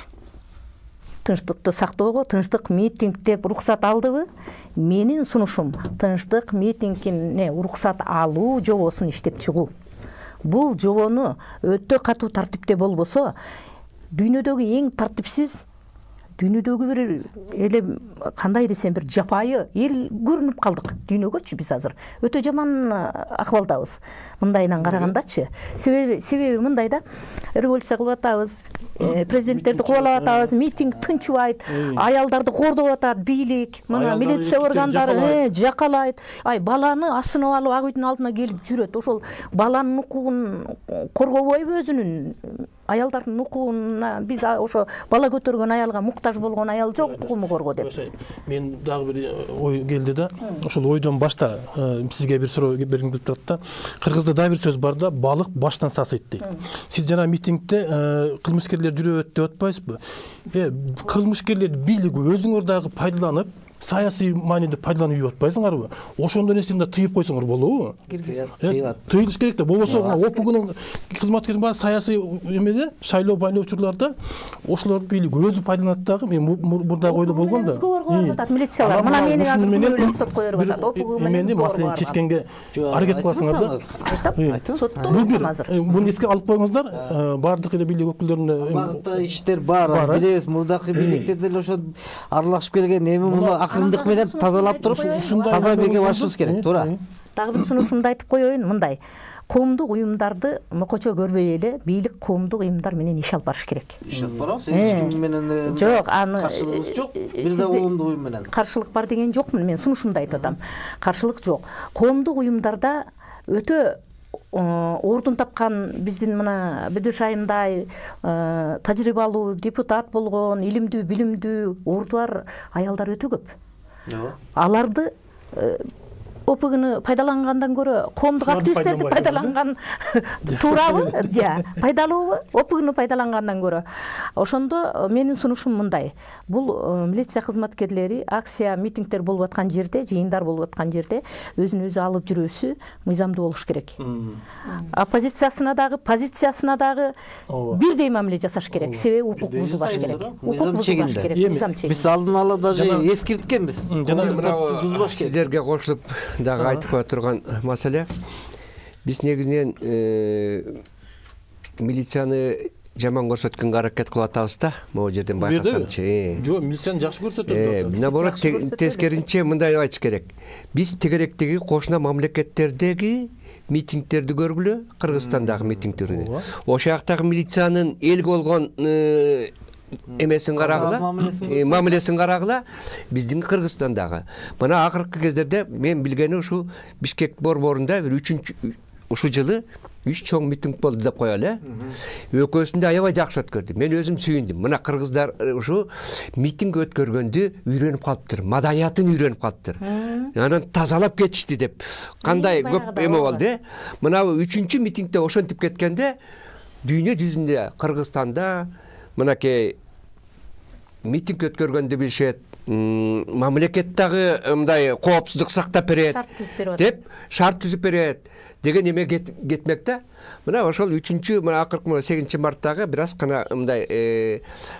Тынчтыкты сактоого, тынчтык митинг деп уруксат алдыбы? Менин сунушум тынчтык митингине уруксат алуу жобосун иштеп чыгуу. Бул жобону өтө катуу тартипте болбосо, дүйнөдөгү эң тартипсиз, дүйнөдөгү бир эле кандай десем бир жапайы эл көрүнүп калдык дүйнөгөчү биз азыр. Өтө жаман акыбалдабыз. Мындайынан карагандачы. Себеби себеби мындай да, революция кылып атабыз, президенттерди кубалап атабыз, митинг тынчыбайт, аялдарды кордоп атат бийлик, мына милиция органдары жакалайт. Ай, баланы асынып алып ак үйдүн алдына келип жүрөт. Ошол баланын укугун коргобойбу өзүнүн аялдардын укугуна биз ошо бала көтөргөн аялга муктаж болгон аял жок, укугумду корго деп. Мен дагы бир ой келди да, ошол ойдон башта сизге бир суроо бергим келип турат да. Кыргызда дагы бир сөз бар да, балык баштан сасыйт дейт. Сиз жана митингде кылмышкерлер жүрөт деп атпайсызбы? Э, кылмышкерлер бийлиги өзүңөр дагы пайдаланып, саясий мааниде пайдаланып үйүп атпайсыңарбы? Ошондо нерсени да тыйып койсоңор болобу? Тыйылыш керек да. Болбосо ОПУГнун кызматкерин баары саясий эмеде, шайлоо байлоочуларда ошолор бийлиги өзү пайдаланат дагы. Мен мурда ойдо болгон да. Милициялар мына мени азыр өксөт кое берип атат. ОПУГ менен маселени чечкенге аракет кыласыңар да. Айтам, соттон азыр. Муну эске алып коюңуздар. Баардык эле бийлик өкүлдөрүнө багытта иштер бар. Билебиз, мурдакы бийликтер деле ошо аралашып келген. Эми муну акырындык менен тазалап туруп, таза бирге башыбыз керек, туура. Дагы бир сунушумду айтып коеюн, мындай. Коомдук уюмдарды мокочо көрбөй эле бийлик коомдук уюмдар менен иш алып барыш керек. Иш алып барабыз. Эч ким менен жок, аны каршылыгыбыз жок. Бир да коомдук уюм менен. Каршылык бар деген жокмун, мен сунушумду айтып атам. Каршылык жок. Коомдук уюмдарда өтө ордун тапкан биздин мына Бөдөш айымдай тажрыйбалуу депутат болгон, илимдүү, билимдүү, орду бар аялдар өтө көп. Аларды ОПУГну пайдалангандан көрө коомдук активисттерди пайдаланган туурабы? Жа, пайдалуубу? ОПУГну пайдалангандан көрө. Ошондо менин сунушум мындай. Бул милиция кызматкерлери акция, митингдер болуп аткан жерде, жыйындар болуп аткан жерде өзүн өзү алып жүрүүсү мыйзамдуу болуш керек. Оппозициясына дагы, позициясына дагы бирдей мамиле жасаш керек. Себеби укук бузулбаш керек. Мыйзам чегинде. Биз алдын ала даже эскерткенбиз. Жана сиздерге кошулуп дагы айтып кое турган маселе, биз негизинен милицияны жаман көрсөткөнгө аракет кылып атабыз да, могу жерден байкасаңчы. Жок, милицияны жакшы көрсөтөт. Наоборот, тескеринче мындай айтыш керек. Биз тегеректеги кошуна мамлекеттердеги митингдерди көргүлө, Кыргызстандагы митингдерди. Ошол жактагы милициянын элге болгон эмесин карагыла, мамилесин карагыла, биздин Кыргызстандагы. Мына акыркы кездерде мен билгени ушу Бишкек борборунда бир үчүнчү ушу жылы үч чоң митинг болду деп коелу. Экөөсүндө аябай жакшы өткөрдү. Мен өзүм сүйүндүм. Мына кыргыздар ушу митинг өткөргөндү үйрөнүп калыптыр, маданиятын үйрөнүп калыптыр. Анан тазалап кетишти деп. Кандай көп эме болду. Мына үчүнчү митингде ошентип кеткенде дүйнө жүзүндө Кыргызстанда мынакей митинг өткөргөндү билишет, мамлекет дагы мындай коопсуздук сактап берет деп шарт түзүп берет деген эме кетмек да. Мына ошол үчүнчү мына акыркы сегизинчи марттагы бир аз гана мындай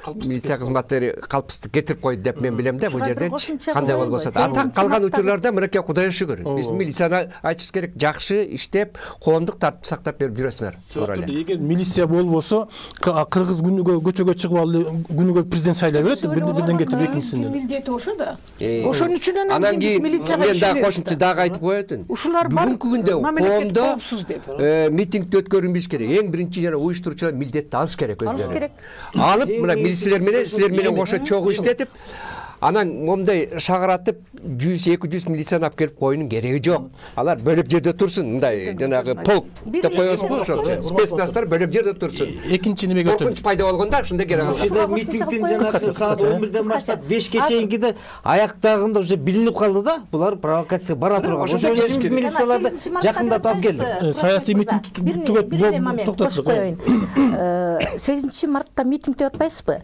милиция кызматтары калпсыздык кетирип койду деп мен билем да. Бул жерде кандай болбосо да. Ата калган учурларда мынакей Кудайга шүгүр. Биз милицияны айтышыбыз керек, жакшы иштеп, коомдук тартып сактап берип жүрөсүңөр. Эгер милиция болбосо, кыргыз күнүгө көчөгө чыгып алып, күнүгө президент шайлай берет, бирден кетип экинчисинен. Милдети ошо да. Ошон үчүн анан кийин мен дагы кошумча дагы айтып коетун. Бүгүнкү күндө коомдо митинг өткөрүн билиш керек. Эң биринчи жана уюштуруучулар милдетти алыш керек өзүнө. Алып, мына милициялар менен, силер менен кошо чогуу иштетип, анан момундай шагаратып жүз эки жүз милицияны алып келип коюунун кереги жок. Алар бөлөк жерде турсун, мындай жанагы полк деп коебузбу ошолчу. Спецназдар бөлөк жерде турсун. Экинчи немеге өтөм. Коркунуч пайда болгондо ошондой керек. Ошондо митингдин жанагы саат он бирден баштап бешке чейинкиде аяктагында уже билинип калды да, булар провокация бара турган. Ошон үчүн милицияларды жакындатып алып келди. Саясий митинг түгөт токтотуп коеюн. сегизинчи мартта митинг деп атпайсызбы?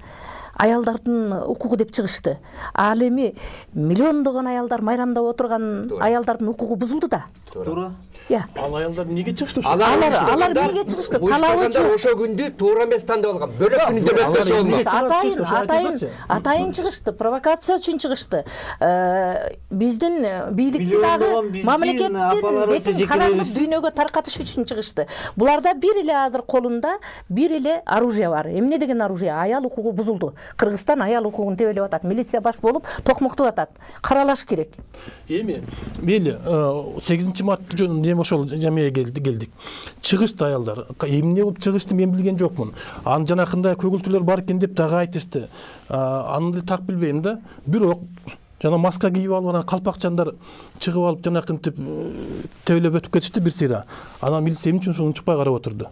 Аялдардын укугу деп чыгышты. Ал эми миллиондогон аялдар майрамдап отурган аялдардын укугу бузулду да. Туура. Ал аялдар эмнеге чыгышты ошо? Алар алар эмнеге чыгышты? Талабычы ошо күндү туура эмес тандап алган. Бөлөк күндө өткөрсө болмос. Атайын, атайын, атайын чыгышты, провокация үчүн чыгышты. Биздин бийликти дагы мамлекеттин бетин караңгы дүйнөгө таркатыш үчүн чыгышты. Буларда бир эле азыр колунда бир эле оружие бар. Эмне деген оружие? Аял укугу бузулду. Кыргызстан аял укугун тебелеп атат. Милиция баш болуп токмоктоп атат. Каралаш керек. Эми мейли сегизинчи март ошол жамиеге келдик. Чыгышты аялдар. Эмне болуп чыгышты мен билген жокмун. Анын жанакында көгүлтүлөр бар экен деп дагы айтышты. Аны так билбейм да. Бирок жана маска кийип алып анан калпакчандар чыгып алып жанакынтип тебелеп өтүп кетишти бир сыйра. Анан милиция эмне үчүн ошону чыкпай карап отурду?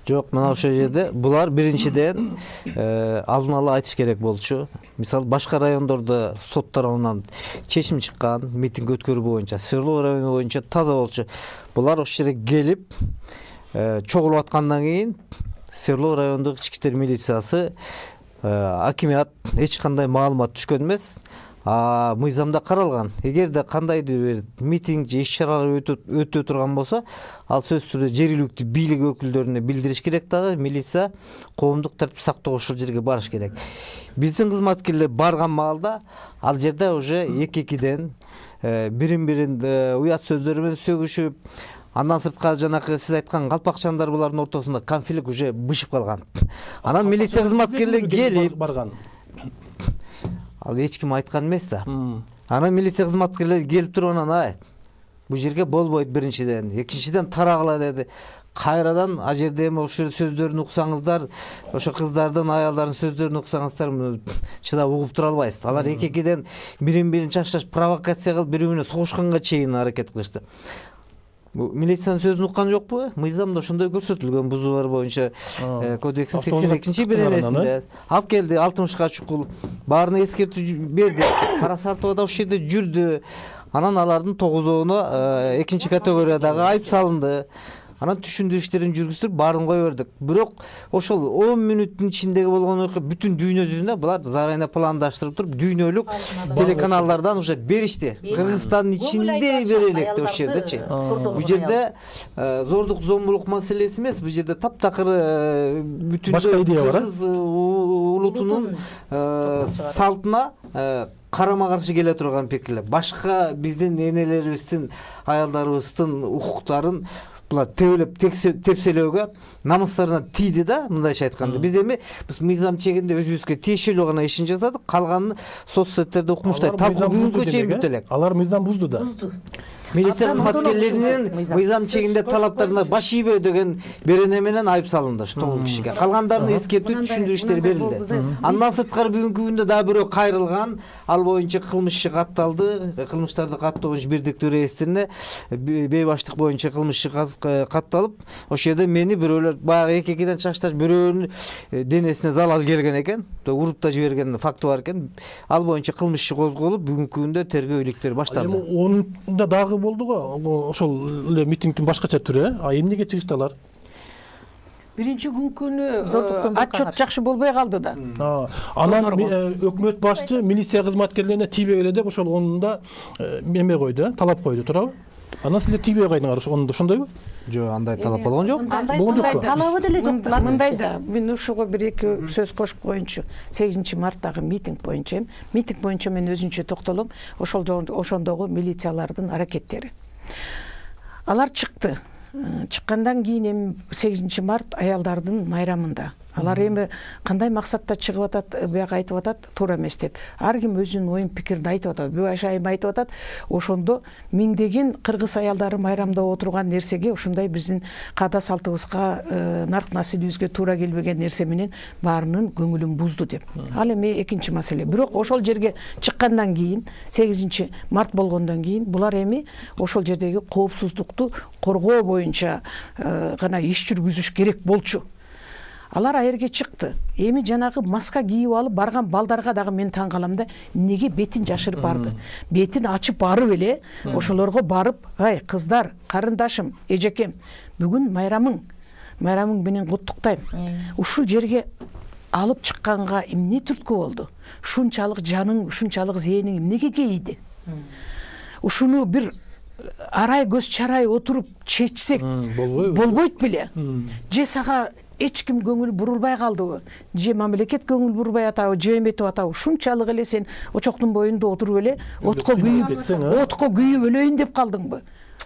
Жок, мына ошол жерде булар биринчиден алдын ала айтыш керек болчу. Мисалы башка райондордо сот тарабынан чечим чыккан, митинг өткөрүү боюнча, Свердлов району боюнча таза болчу. Булар ошол жерге келип чогулуп аткандан кийин Свердлов райондук ички иштер милициясы, акимият эч кандай маалымат түшкөн эмес. А мыйзамда каралган, эгерде кандайдыр бир митинг же иш-чаралар өтө турган болсо, ал сөзсүз түрдө жергиликтүү бийлик өкүлдөрүнө билдириш керек дагы, милиция коомдук тартип сактоого ошол жерге барыш керек. Биздин кызматкерлер барган маалда ал жерде уже эки-экиден бирин-бирин уят сөздөр менен сөгүшүп, андан сырткары жанакы сиз айткан калпакчандар булардын ортосунда конфликт уже бышып калган. Анан милиция кызматкерлери келип барган. Ал эч ким айткан эмес да. Анан милиция кызматкерлери келип туруп анан айт. Бул жерге болбойт биринчиден, экинчиден тарагыла деди. Кайрадан а жерде эми ошол сөздөрүн уксаңыздар, ошо кыздардын, аялдардын сөздөрүн уксаңыздар, чыдап угуп тура албайсыз. Алар эки-экиден бирин-бирин чачташ провокация кылып, бири-бирине согушканга чейин аракет кылышты. Милициянын сөзүн уккан жокпу? Мыйзамда ошондой көрсөтүлгөн бузуулар боюнча кодекстин сексен экинчи беренесинде. Алып келди алтымышка чукул, баарына эскертүү берди. Кара Сартова да ошол жерде жүрдү. Анан алардын тогузоону экинчи категориядагы айып салынды. Анан түшүндүрүү иштерин жүргүзүп баарын кое бердик. Бирок ошол он мүнөттүн ичиндеги болгон окуя бүтүн дүйнө жүзүндө булар зарайна пландаштырып туруп дүйнөлүк телеканалдардан уже беришти. Кыргызстандын ичинде бере электи ошол жердечи. Бул жерде зордук зомбулук маселеси эмес, бул жерде таптакыр бүтүн кыргыз улутунун салтына карама каршы келе турган пикирлер. Башка биздин энелерибиздин, аялдарыбыздын укуктарын булар тебелеп тепселөөгө, намыстарына тийди да, мындайча айтканда. Биз эми биз мыйзам чегинде өзүбүзгө тиешелүү гана ишин жасадык, калганын соцсеттерде укмуштайт. Так бүгүнкү чейин бүт элек. Алар мыйзам бузду да. Милиция кызматкерлеринин мыйзам чегинде талаптарына баш ийбөө деген берене менен айып салынды ушу тогуз кишиге. Калгандарына эскертүү, түшүндүрүү иштери берилди. Андан сырткары бүгүнкү күндө дагы бирөө кайрылган, ал боюнча кылмыш иши катталды. Кылмыштарды каттоо боюнча бирдиктүү реестрине бейбаштык боюнча кылмыш иши катталып, ошол жерде мени бирөөлөр баягы эки-экиден чачташ бирөөнүн денесине залал келген экен, уруп да жиберген факты бар экен. Ал боюнча кылмыш иши козголуп, бүгүнкү күндө тергөө иликтери башталды. Эми онда дагы болду го, ошол эле митингдин башкача түрү, а эмнеге чыгышты алар? Биринчи күнкүнү отчет жакшы болбой калды да. Анан өкмөт башчы милиция кызматкерлерине тийбегиле деп ошол онунда эме койду, талап койду, туурабы? Анан силер тийбей кайдыңар онунда, ошондойбу? Жок, андай талап болгон жок. Болгон жок. Талабы деле жок. Мындай да, мен ушуга бир эки сөз кошуп коеюнчу. сегизинчи марттагы митинг боюнча, митинг боюнча мен өзүнчө токтолом, ошол ошондогу милициялардын аракеттери. Алар чыкты. Чыккандан кийин эми сегизинчи март аялдардын майрамында. Алар эми кандай максатта чыгып атат, буяка айтып атат, туура эмес деп. Ар ким өзүнүн оюн пикирин айтып атат. Бүбай айым айтып атат, ошондо миңдеген кыргыз аялдары майрамда отурган нерсеге ушундай биздин каада салтыбызга, нарк насилибизге туура келбеген нерсе менен баарынын көңүлүн бузду деп. Ал эми экинчи маселе. Бирок ошол жерге чыккандан кийин, сегизинчи март болгондон кийин булар эми ошол жердеги коопсуздукту коргоо боюнча гана иш жүргүзүш керек болчу. Алар айерге чыкты. Эми жанагы маска кийип алып барган балдарга дагы мен таң калам да, эмнеге бетин жашырып барды? Бетин ачып барып эле ошолорго барып, "Ай, кыздар, карындашым, эжекем, бүгүн майрамың, майрамың менен куттуктайм. Ушул жерге алып чыкканга эмне түрткү болду? Ушунчалык жаның, ушунчалык зээниң эмнеге кейиди? Ушуну бир арай көз чарай отуруп чечсек болбойт беле? Же сага эч ким көңүл бурулбай калдыбы? Же мамлекет көңүл бурбай атабы, же эметип атабы? Ушунчалык эле сен очоктун боюнда отуруп эле отко күйүп, отко күйүп өлөйүн деп калдыңбы?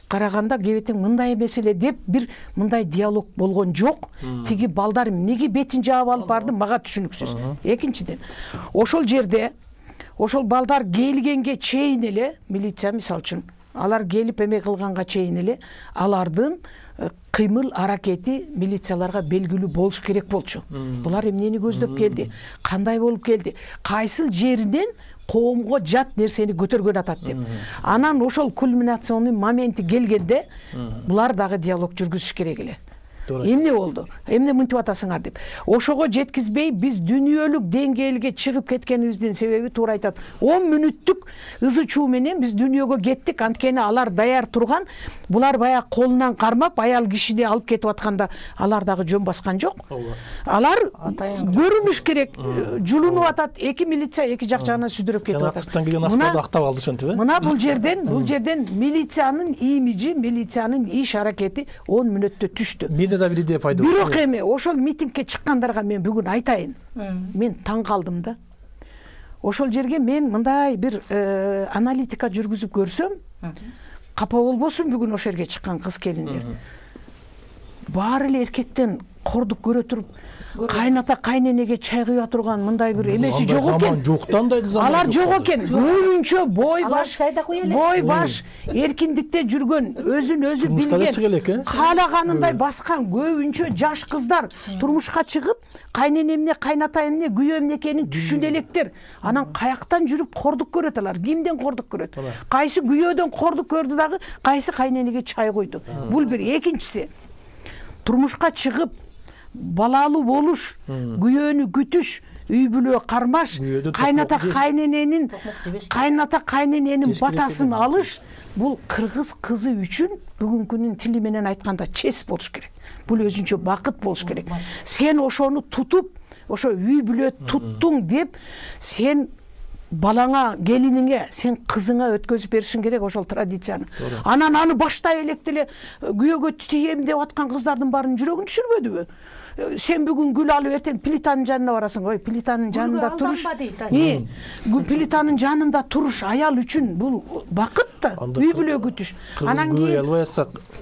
Караганда кебетең мындай эмес эле деп бир мындай диалог болгон жок. Тиги балдар эмнеге бетин жаап алып барды, мага түшүнүксүз. Экинчиден, ошол жерде ошол балдар келгенге чейин эле милиция, мисалы үчүн, алар келип эме кылганга чейин эле алардын кыймыл аракети милицияларга белгилүү болуш керек болчу. Булар эмнени көздөп келди? Кандай болуп келди? Кайсыл жеринен коомго жат нерсени көтөргөн атат деп. Анан ошол кульминационный моменти келгенде булар дагы диалог жүргүзүш керек эле. эмне болду, эмне мынтип атасыңар деп. Ошого жеткизбей биз дүйнөлүк деңгээлге чыгып кеткенибиздин себеби туура айтат. он мүнөттүк ызы чуу менен биз дүйнөгө кеттик, анткени алар даяр турган. Булар баягы колунан кармап аял кишини алып кетип атканда алар дагы жөн баскан жок. Алар көрүнүш керек, жулунуп атат, эки милиция эки жак жагынан сүдүрөп кетип атат. Сырттан келген актарды актап алды ошентип э? Мына бул жерден, бул жерден милициянын имиджи, милициянын иш аракети он мүнөттө түштү. Менде да бир идея пайда болду. Бирок эми ошол митингке чыккандарга мен бүгүн айтайын. Мен таң калдым да. Ошол жерге мен мындай бир аналитика жүргүзүп көрсөм, капа болбосун бүгүн ошол жерге чыккан кыз келиндер. Баары эле эркектен кордук көрө туруп, кайната кайненеге чай куя турган мындай бир эмеси жок экен. Алар жок экен. Көбүнчө бой баш, бой баш, эркиндикте жүргөн, өзүн өзү билген, каалаганындай баскан көбүнчө жаш кыздар турмушка чыгып, кайненемне, кайнатайымне, күйөөм экенин түшүнө электер. Анан каяктан жүрүп кордук көрөт алар? Кимден кордук көрөт? Кайсы күйөөдөн кордук көрдү дагы, кайсы кайненеге чай куйду? Бул бир. Экинчиси, турмушка чыгып балалуу болуш, күйөөнү күтүш, үй бүлө кармаш, кайната кайнененин кайната кайнененин батасын алыш, бул кыргыз кызы үчүн бүгүнкүнүн тили менен айтканда честь болуш керек. Бул өзүнчө бакыт болуш керек. Сен ошону тутуп, ошо үй бүлө туттуң деп, сен балаңа, келиниңе, сен кызыңа өткөзүп беришиң керек ошол традицияны. Анан аны баштай электе эле күйөөгө тием деп аткан кыздардын баарын жүрөгүн түшүрбөдүбү? Сен бүгүн гүл алып эртең плитанын жанына барасың. Ой, плитанын жанында туруш. Эмне? Плитанын жанында туруш аял үчүн бул бакыт да, үй бүлө күтүш. Анан кийин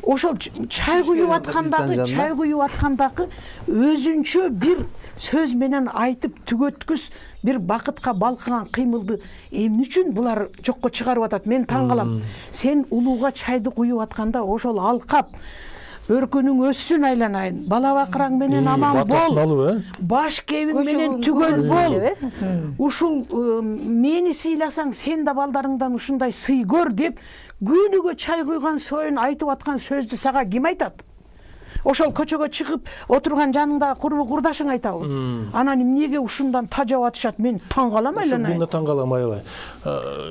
ошол чай куюп аткандагы, чай куюп аткандагы өзүнчө бир сөз менен айтып түгөткүс бир бакытка балкыган кыймылды эмне үчүн булар жокко чыгарып атат? Мен таң калам. Сен улууга чайды куюп атканда ошол алкап өркүнүң өссүн айланайын, бала бакыраң менен аман бол, баш кебиң менен түгөл бол, ушул мени сыйласаң сен да балдарыңдан ушундай сый көр деп күнүгө чай куйган союн айтып аткан сөздү сага ким айтат? Ошол көчөгө чыгып отурган жаныңдагы курбу курдашың айтабы? Анан эмнеге ушундан тажап атышат? Мен таң калам айланайын. Мен таң калам аябай.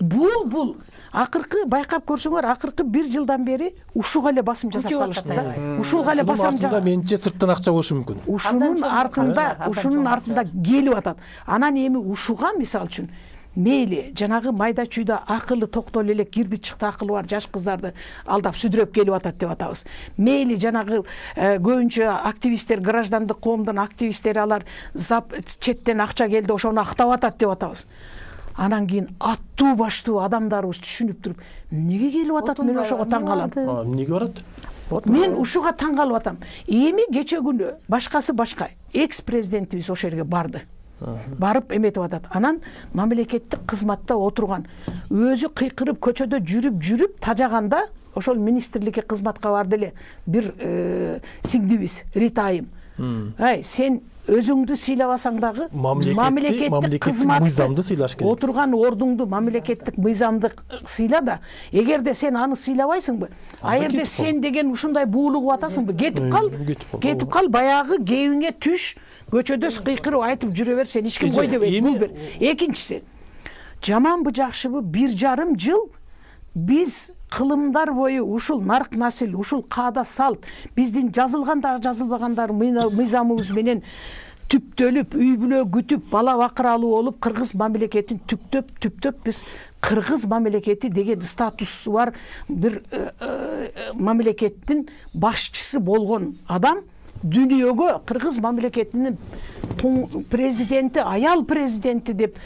Бул бул акыркы байкап көрсөңөр, акыркы бир жылдан бери ушуга эле басым жасап калышты да. Ушуга эле басым жасап. Менче сырттан акча болушу мүмкүн. Ушунун артында, ушунун артында келип атат. Анан эми ушуга мисал үчүн мейли жанагы майда чүйдө акылы токтол эле кирди чыкты акылы бар жаш кыздарды алдап сүдүрөп келип атат деп атабыз. Мейли жанагы көбүнчө активисттер, граждандык коомдун активисттери алар зап четтен акча келди, ошону актап атат деп атабыз. Анан кийин аттуу баштуу адамдарыбыз түшүнүп туруп, эмнеге келип атат? Мен ошого таң калам. Эмнеге барат? Мен ушуга таң калып атам. Эми кече күнү башкасы башка, экс-президентибиз ошол жерге барды. Барып эметип атат. Анан мамлекеттик кызматта отурган, өзү кыйкырып көчөдө жүрүп-жүрүп тажаганда ошол министрликке кызматка барды эле бир сиңдибиз Ритайым. Ай, сен өзүңдү сыйлабасаң дагы мамлекеттик кызматты сыйлаш керек. Отурган ордуңду мамлекеттик мыйзамды сыйла да, эгерде сен аны сыйлабайсыңбы, а жерде сен деген ушундай буулугуп атасыңбы, кетип кал, кетип кал, баягы кебиңе түш, көчөдө кыйкырып айтып жүрө бер, сен эч ким кой дебейт. Бул бир. Экинчиси, жаманбы жакшыбы бир жарым жыл биз кылымдар бою ушул нарк насил, ушул каада салт, биздин жазылганда жазылбагандар мыйзамыбыз менен түптөлүп, үй бүлө күтүп, бала бакыралуу болуп, кыргыз мамлекетин түптөп, түптөп биз кыргыз мамлекети деген статусу бар бир мамлекеттин башчысы болгон адам дүйнөгө кыргыз мамлекетинин президенти, аял президенти деп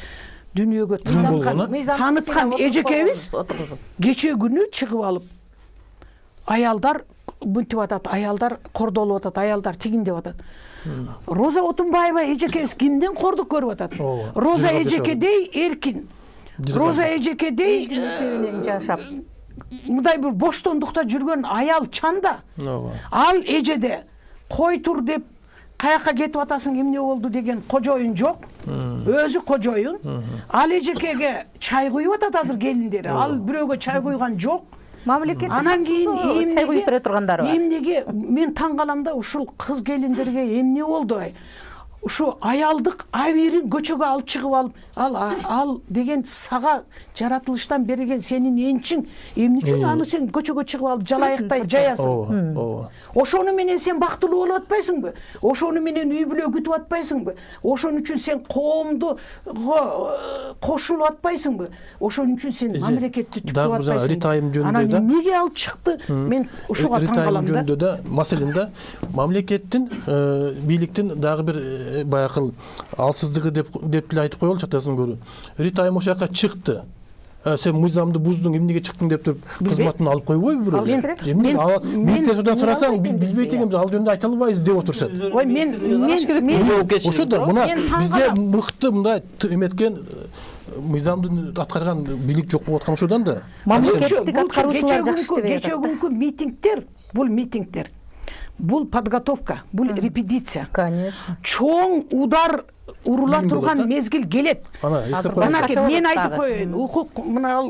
дүйнөгө таныткан эжекебиз кече күнү чыгып алып аялдар мынтип атат, аялдар кордолуп атат, аялдар тигин деп атат. Роза Отунбаева эжекебиз кимден кордук көрүп атат? Роза эжекедей эркин, Роза эжекедей жашап мындай бир боштондукта жүргөн аял чанда. Ал эжеде кой тур деп каяка кетип атасың, эмне болду деген кожоюн жок. Өзү кожоюн. Ал эжекеге чай куюп атат азыр келиндери. Ал бирөөгө чай куйган жок. мамлекеттик анан кийин чай куюп бере тургандары бар. Эмнеге мен таң калам да, ушул кыз келиндерге эмне болду? Ушу аялдык абийирин көчөгө алып чыгып алып, ал ал деген сага жаратылыштан берген сенин энчиң, эмне үчүн аны сен көчөгө чыгып алып жалайыктай жаясың? Ооба. Ошону менен сен бактылуу болуп атпайсыңбы? Ошону менен үй бүлө күтүп атпайсыңбы? Ошон үчүн сен коомду кошулуп атпайсыңбы? Ошон үчүн сен мамлекетти түктөп атпайсыңбы? Рита айым жөнүндө да. Анан эмнеге алып чыкты? Мен ушуга таң калам да. Рита айым жөнүндө да, маселен да, мамлекеттин, бийликтин дагы бир баягы алсыздыгы деп деп деле айтып коелучу, атасын көрүү. Рита айым ошол жака чыкты. Сен мыйзамды буздуң, эмнеге чыктың деп туруп кызматын алып койбойбу бирөө? Министрликтерден сурасаң, биз билбейт экенбиз, ал жөнүндө айта албайбыз деп отурушат. Ой, мен мен ошо да мына бизде мыкты мындай эметкен мыйзамды аткарган бийлик жок болуп аткан ошодан да. Мамлекеттик аткаруучулар жакшы деп кечээ күнкү митингдер, бул митингдер, бул подготовка, бул репетиция. Конечно. Чоң удар урула турган мезгил келет. Анан мен айтып коеюн, укук мына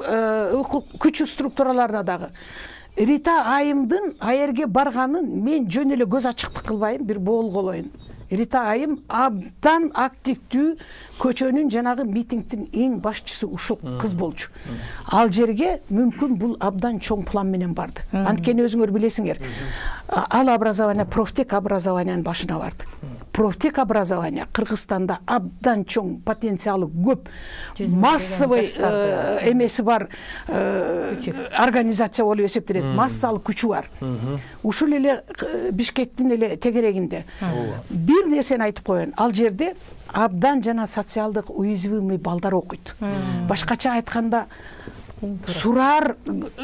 укук күч структураларына дагы Рита айымдын аерге барганын мен жөн эле көз ачыктык кылбайм, бир боолголоюн. Рита айым абдан активдүү көчөнүн жанагы митингдин эң башчысы ушул кыз болчу. Ал жерге мүмкүн бул абдан чоң план менен барды. Анткени өзүңөр билесиңер, ал образование профтек образованиянын башына барды. Профтек образование Кыргызстанда абдан чоң потенциалы көп, массовый эмеси бар организация болуп эсептелет, массалык күчү бар. Ушул эле Бишкектин эле тегерегинде. Бир нерсени айтып коеюн, ал жерде абдан жана социалдык уязвимый балдар окуйт. Башкача айтканда, сурар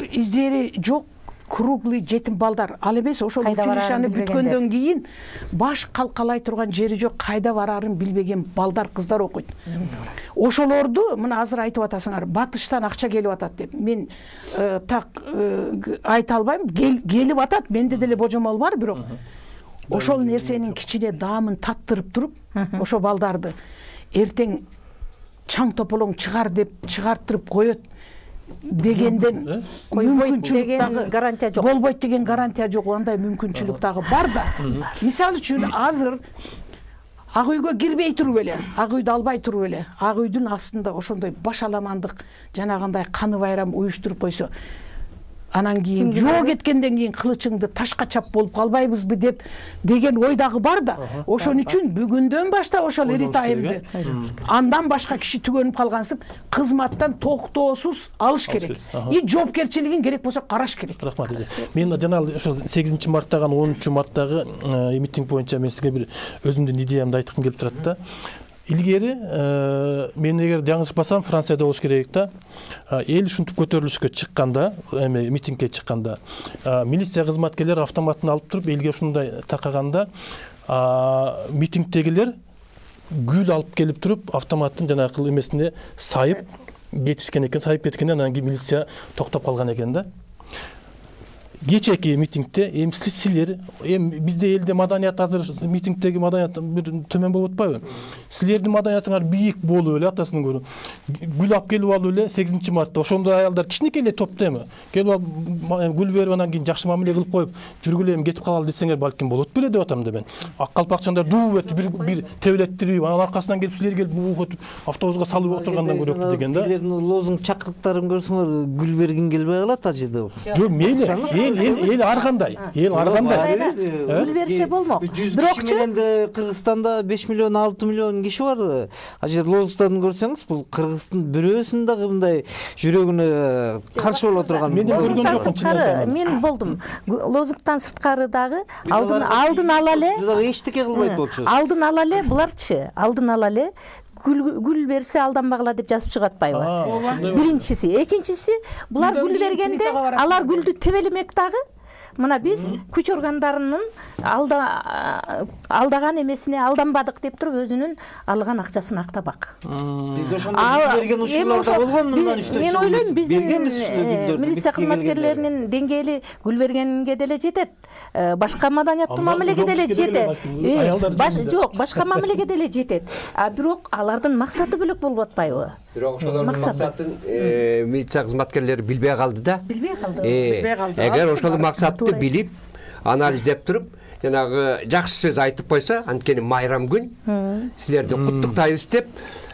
издери жок круглый жетим балдар. Ал эмес, ошол училищаны бүткөндөн кийин баш калкалай турган жери жок, кайда барарын билбеген балдар, кыздар окуйт. Ошолорду мына азыр айтып атасыңар, батыштан акча келип атат деп. Мен так айта албайм, келип атат, менде деле божомол бар, бирок ошол нерсенин кичине даамын таттырып туруп, ошо балдарды эртең чаң тополоң чыгар деп чыгартырып коет дегенден мүмкүнчүлүк дагы гарантия жок. Болбойт деген гарантия жок, андай мүмкүнчүлүк дагы бар да. Мисалы үчүн азыр Ак үйгө кирбей туруп эле, ак үйдү албай туруп эле, ак үйдүн астында ошондой башаламандык, жанагындай каны байрам уюштуруп койсо, анан кийин жоо кеткенден кийин кылычыңды ташка чап болуп калбайбызбы деп деген ой дагы бар да. Ошон үчүн бүгүндөн баштап ошол Рита айымды андан башка киши түгөнүп калгансып кызматтан токтоосуз алыш керек. И жоопкерчилигин керек болсо караш керек. Рахмат. Мен жана ошо сегизинчи марттагы, онунчу марттагы митинг боюнча мен сизге бир өзүмдүн идеямды айткым келип турат да. Илгери мен эгер жаңылышпасам Францияда болуш керек да. Эл ушинтип көтөрүлүшкө чыкканда, эме митингге чыкканда, милиция кызматкерлери автоматын алып туруп элге ушундай такаганда, митингдегилер гүл алып келип туруп автоматтын жанагы эмесине сайып кетишкен экен, сайып кеткенден анан кийин милиция токтоп калган экен да. Кечээки митингде эми силер, эми бизде элде маданият азыр митингдеги маданият бир төмөн болуп атпайбы? Силердин маданиятыңар бийик болуп эле, атасын көрүп, гүл алып келип алып эле сегизинчи мартта ошондой аялдар кичинекей эле топто эми. Келип алып гүл берип анан кийин жакшы мамиле кылып коюп, жүргүлө эми кетип калалы десеңер балким болот беле деп атам да мен. Ак калпакчандар дуу этип бир бир тебелеттирип, анан аркасынан келип силер келип буук өтүп автобуска салып отургандан көрөктү деген да. Силердин лозунг чакырыктарын көрсөңөр гүл бергин келбей калат ал жерде. Жок, мейли. Эл эл ар кандай? Эл ар кандай? Гүл берсе болмок. Бирокчу менде Кыргызстанда беш миллион, алты миллион киши бар. Ал жерде лозунгтарын көрсөңүз, бул Кыргыздын бирөөсүн дагы мындай жүрөгүнө каршы боло турган. Мен көргөн жокмун. Мен болдум. Лозунгтан сырткары дагы алдын алдын ала эле. Булар эчтеке кылбайт болчу. Алдын ала эле буларчы, алдын ала эле гүл берсе алданбагыла деп жазып чыгып атпайбы? Биринчиси, экинчиси, булар гүл бергенде алар гүлдү тебелемек дагы. мына биз күч органдарынын алдаган эмесине алданбадык деп туруп өзүнүн алган акчасын актабак. Бизде ошондой берген учурлар да болгон. Мен ойлойм биздин милиция кызматкерлеринин деңгээли Гүлбергенге деле жетет, башка маданияттуу мамилеге деле жетет. Жок, башка мамилеге деле жетет. А бирок алардын максаты бөлөк болуп атпайбы? Бирок ошолордун максатын милиция кызматкерлери билбей калды да. Билбей калды. Эгер ошол максатты билип, анализдеп туруп, жанагы жакшы сөз айтып койсо, анткени майрам күн, силерди куттуктайбыз деп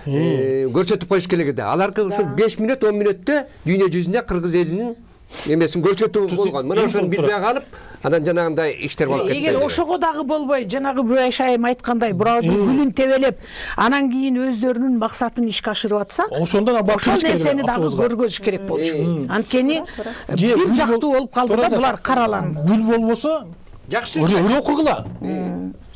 көрсөтүп коюш керек эди. Аларга ошол беш мүнөт, он мүнөттө дүйнө жүзүнө кыргыз элинин эмесин көрсөтүү болгон. Мына ошону билбей калып, анан жанагындай иштер болуп кетти. Эгер ошого дагы болбой, жанагы Бүбөш айым айткандай, бирөөнүн гүлүн тебелеп, анан кийин өздөрүнүн максатын ишке ашырып атса, ошондон ошол нерсени дагы көргөзүш керек болчу. Анткени бир жактуу болуп калды да, булар караланды. Гүл болбосо жакшы өрө окугула.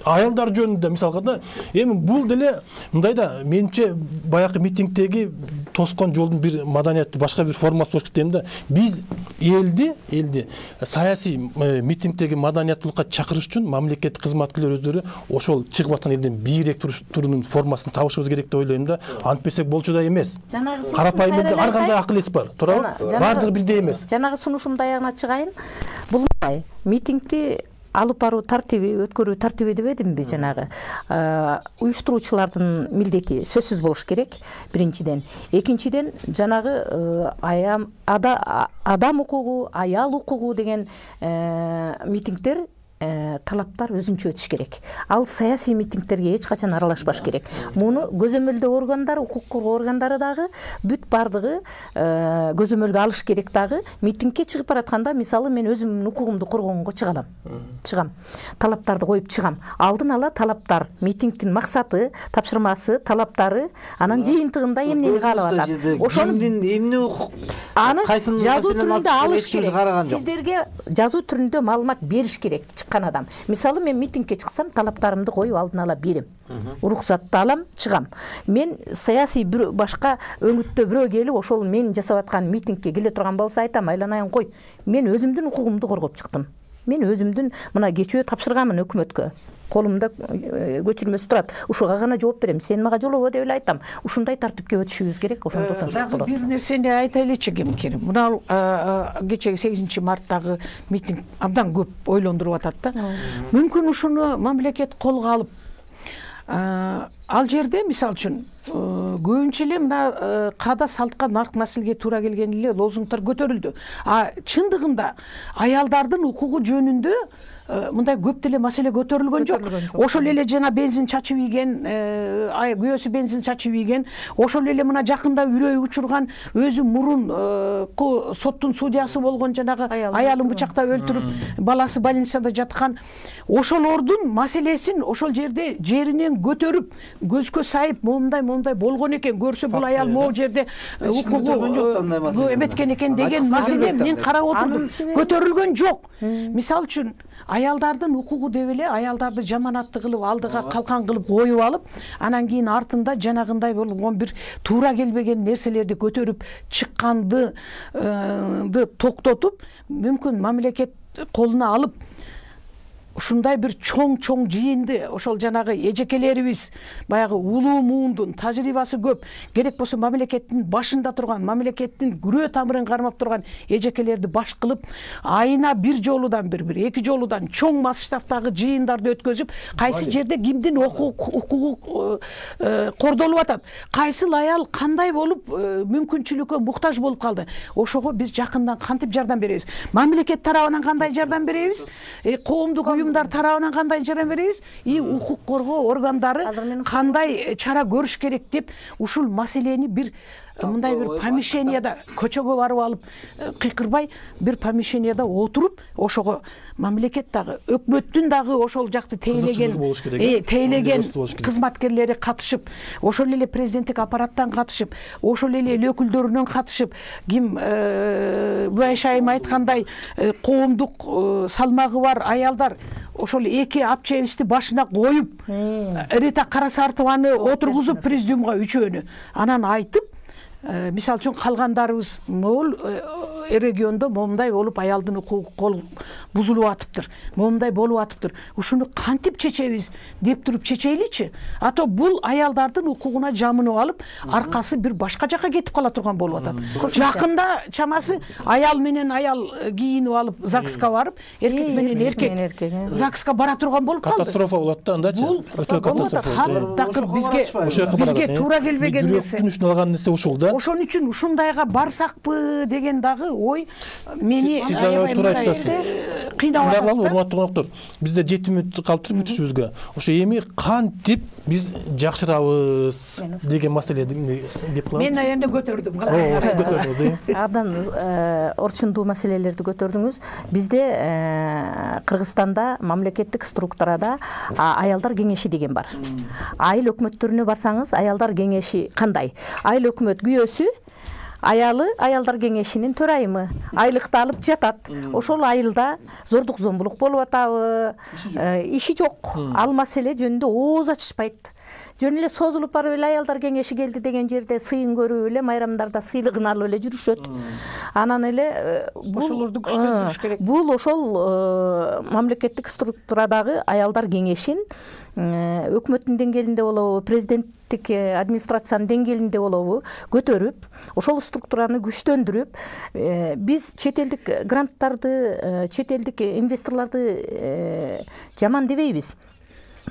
Аялдар жөнүндө мисалга да, эми бул деле мындайда менимче баягы митингдеги тоскон жолдун бир маданияттуу башка бир формасы болуш керек да. Биз элди, элди саясий митингдеги маданияттуулукка чакырыш үчүн мамлекеттик кызматкерлер өздөрү ошол чыгып аткан элден бийирээк турунун формасын табышыбыз керек деп ойлойм да. Антпесек болчу да эмес. Карапайым элде ар кандай акыл эс бар, туурабы? Бардыгы бирдей эмес. Жанагы сунушумду аягына чыгайын. Бул митингди алып баруу тартиби, өткөрүү тартиби дебедимби жанагы? Уюштуруучулардын милдети сөзсүз болуш керек, биринчиден. Экинчиден, жанагы адам укугу, аял укугу деген митингдер талаптар өзүнчө өтүш керек. Ал саясий митингтерге эч качан аралашпаш керек. Муну көзөмөлдөө органдары, укук коргоо органдары дагы бүт бардыгы көзөмөлгө алыш керек дагы. Митингке чыгып баратканда, мисалы мен өзүмдүн укугумду коргогонго чыгам. Чыгам. Талаптарды коюп чыгам. Алдын ала талаптар, митингдин максаты, тапшырмасы, талаптары, анан жыйынтыгында эмнени каалап атат. Ошондун эмне укук аны жазуу түрүндө алыш керек. Сиздерге жазуу түрүндө маалымат бериш керек. Адам. Мисалы мен митингке чыксам, талаптарымды коюп алдын ала берем. Уруксатты алам, чыгам. Мен саясий башка өңүттө бирөө келип, ошол мен жасап аткан митингке келе турган болсо айтам, айланайын кой. Мен өзүмдүн укугумду коргоп чыктым. Мен өзүмдүн мына кечөө тапшырганмын өкмөткө. Колумда көчүрмөсү турат. Ушуга гана жооп берем. Сен мага жолобо деп эле айтам. Ушундай тартипке өтүшүбүз керек, ошондо тынчтык болот. Бир нерсени айтайлычы кемкер. Мына кечеги сегизинчи марттагы митинг абдан көп ойлондуруп атат да. Мүмкүн ушуну мамлекет колго алып, ал жерде мисалы үчүн көбүнчө эле мына каада салтка нарк насилге туура келген эле лозунгдар көтөрүлдү. А чындыгында аялдардын укугу жөнүндө мындай көп деле маселе көтөрүлгөн жок. Ошол эле жана бензин чачып ийген, күйөөсү бензин чачып ийген, ошол эле мына жакында үрөй учурган, өзү мурун соттун судьясы болгон жанагы аялын бычактап өлтүрүп, баласы больницада жаткан, ошолордун маселесин ошол жерде жеринен көтөрүп, көзгө сайып, момундай момундай болгон экен, көрсө бул аял могу жерде укугу эметкен экен деген маселе мен карап отурдум. Көтөрүлгөн жок. Мисалы үчүн аялдардын укугу деп эле аялдарды жаманатты кылып, алдыга калкан кылып коюп алып, анан кийин артында жанагындай болгон бир туура келбеген нерселерди көтөрүп чыкканды токтотуп, мүмкүн мамлекет колуна алып, ушундай бир чоң-чоң жыйынды ошол жанагы эжекелерибиз баягы улуу муундун тажрыйбасы көп, керек болсо мамлекеттин башында турган, мамлекеттин күрөө тамырын кармап турган эжекелерди баш кылып, айына бир жолудан бир бир эки жолудан чоң масштабтагы жыйындарды өткөзүп, кайсы жерде кимдин укугу кордолуп атат, кайсыл аял кандай болуп мүмкүнчүлүккө муктаж болуп калды, ошого биз жакындан кантип жардам беребиз, мамлекет тарабынан кандай жардам беребиз, коомдук уюмдар тарабынан кандай жардам беребиз, и укук коргоо органдары кандай чара көрүш керек деп ушул маселени бир мындай бир помещенияда көчөгө барып алып кыйкырбай бир помещенияда отуруп, ошого мамлекет дагы, өкмөттүн дагы ошол жакты тейлеген тейлеген кызматкерлери катышып, ошол эле президенттик аппараттан катышып, ошол эле эл өкүлдөрүнөн катышып, ким Бүбөш айым айткандай коомдук салмагы бар аялдар ошол эки апчебизди башына коюп, Рита Карасартованы отургузуп президиумга үчөөнү, анан айтып, мисалы үчүн калгандарыбыз могул региондо момундай болуп аялдын укугу кол бузулуп атыптыр, момундай болуп атыптыр, ушуну кантип чечебиз деп туруп чечейличи, а то бул аялдардын укугуна жамынып алып аркасы бир башка жака кетип кала турган болуп атат. Жакында чамасы аял менен аял кийинип алып ЗАГСка барып, эркек менен эркек ЗАГСка бара турган болуп калды. Катастрофа болот да андачы. Өтө катастрофа. Такыр бизге бизге туура келбеген нерсе. Жүрөктүн үчүн алган нерсе ушул да. Ошон үчүн ушундайга барсакпы деген дагы ой мени кыйнап атат. Урматтуу коноктор, бизде жети мүнөт калыптыр бүтүшүбүзгө. Ошо эми кантип биз жакшырабыз деген маселени деп калам. Мен эми көтөрдүм. Абдан орчундуу маселелерди көтөрдүңүз. Бизде Кыргызстанда мамлекеттик структурада аялдар кеңеши деген бар. Айыл өкмөттөрүнө барсаңыз, аялдар кеңеши кандай? Айыл өкмөт күйөөсү аялы аялдар кеңешинин төрайымы, айлыкты алып жатат. Ошол айылда зордук зомбулук болуп атабы, иши жок. Ал маселе жөнүндө ооз ачышпайт. Жөн эле созулуп барып эле аялдар кеңеши келди деген жерде сыйын көрүп эле майрамдарда сыйлыгын алып эле жүрүшөт. Анан эле ошолорду күчтөндүрүш керек. Бул ошол мамлекеттик структурадагы аялдар кеңешин өкмөттүн деңгээлинде болобу, президенттик администрациянын деңгээлинде болобу көтөрүп, ошол структураны күчтөндүрүп, биз чет элдик гранттарды, чет элдик инвесторлорду жаман дебейбиз.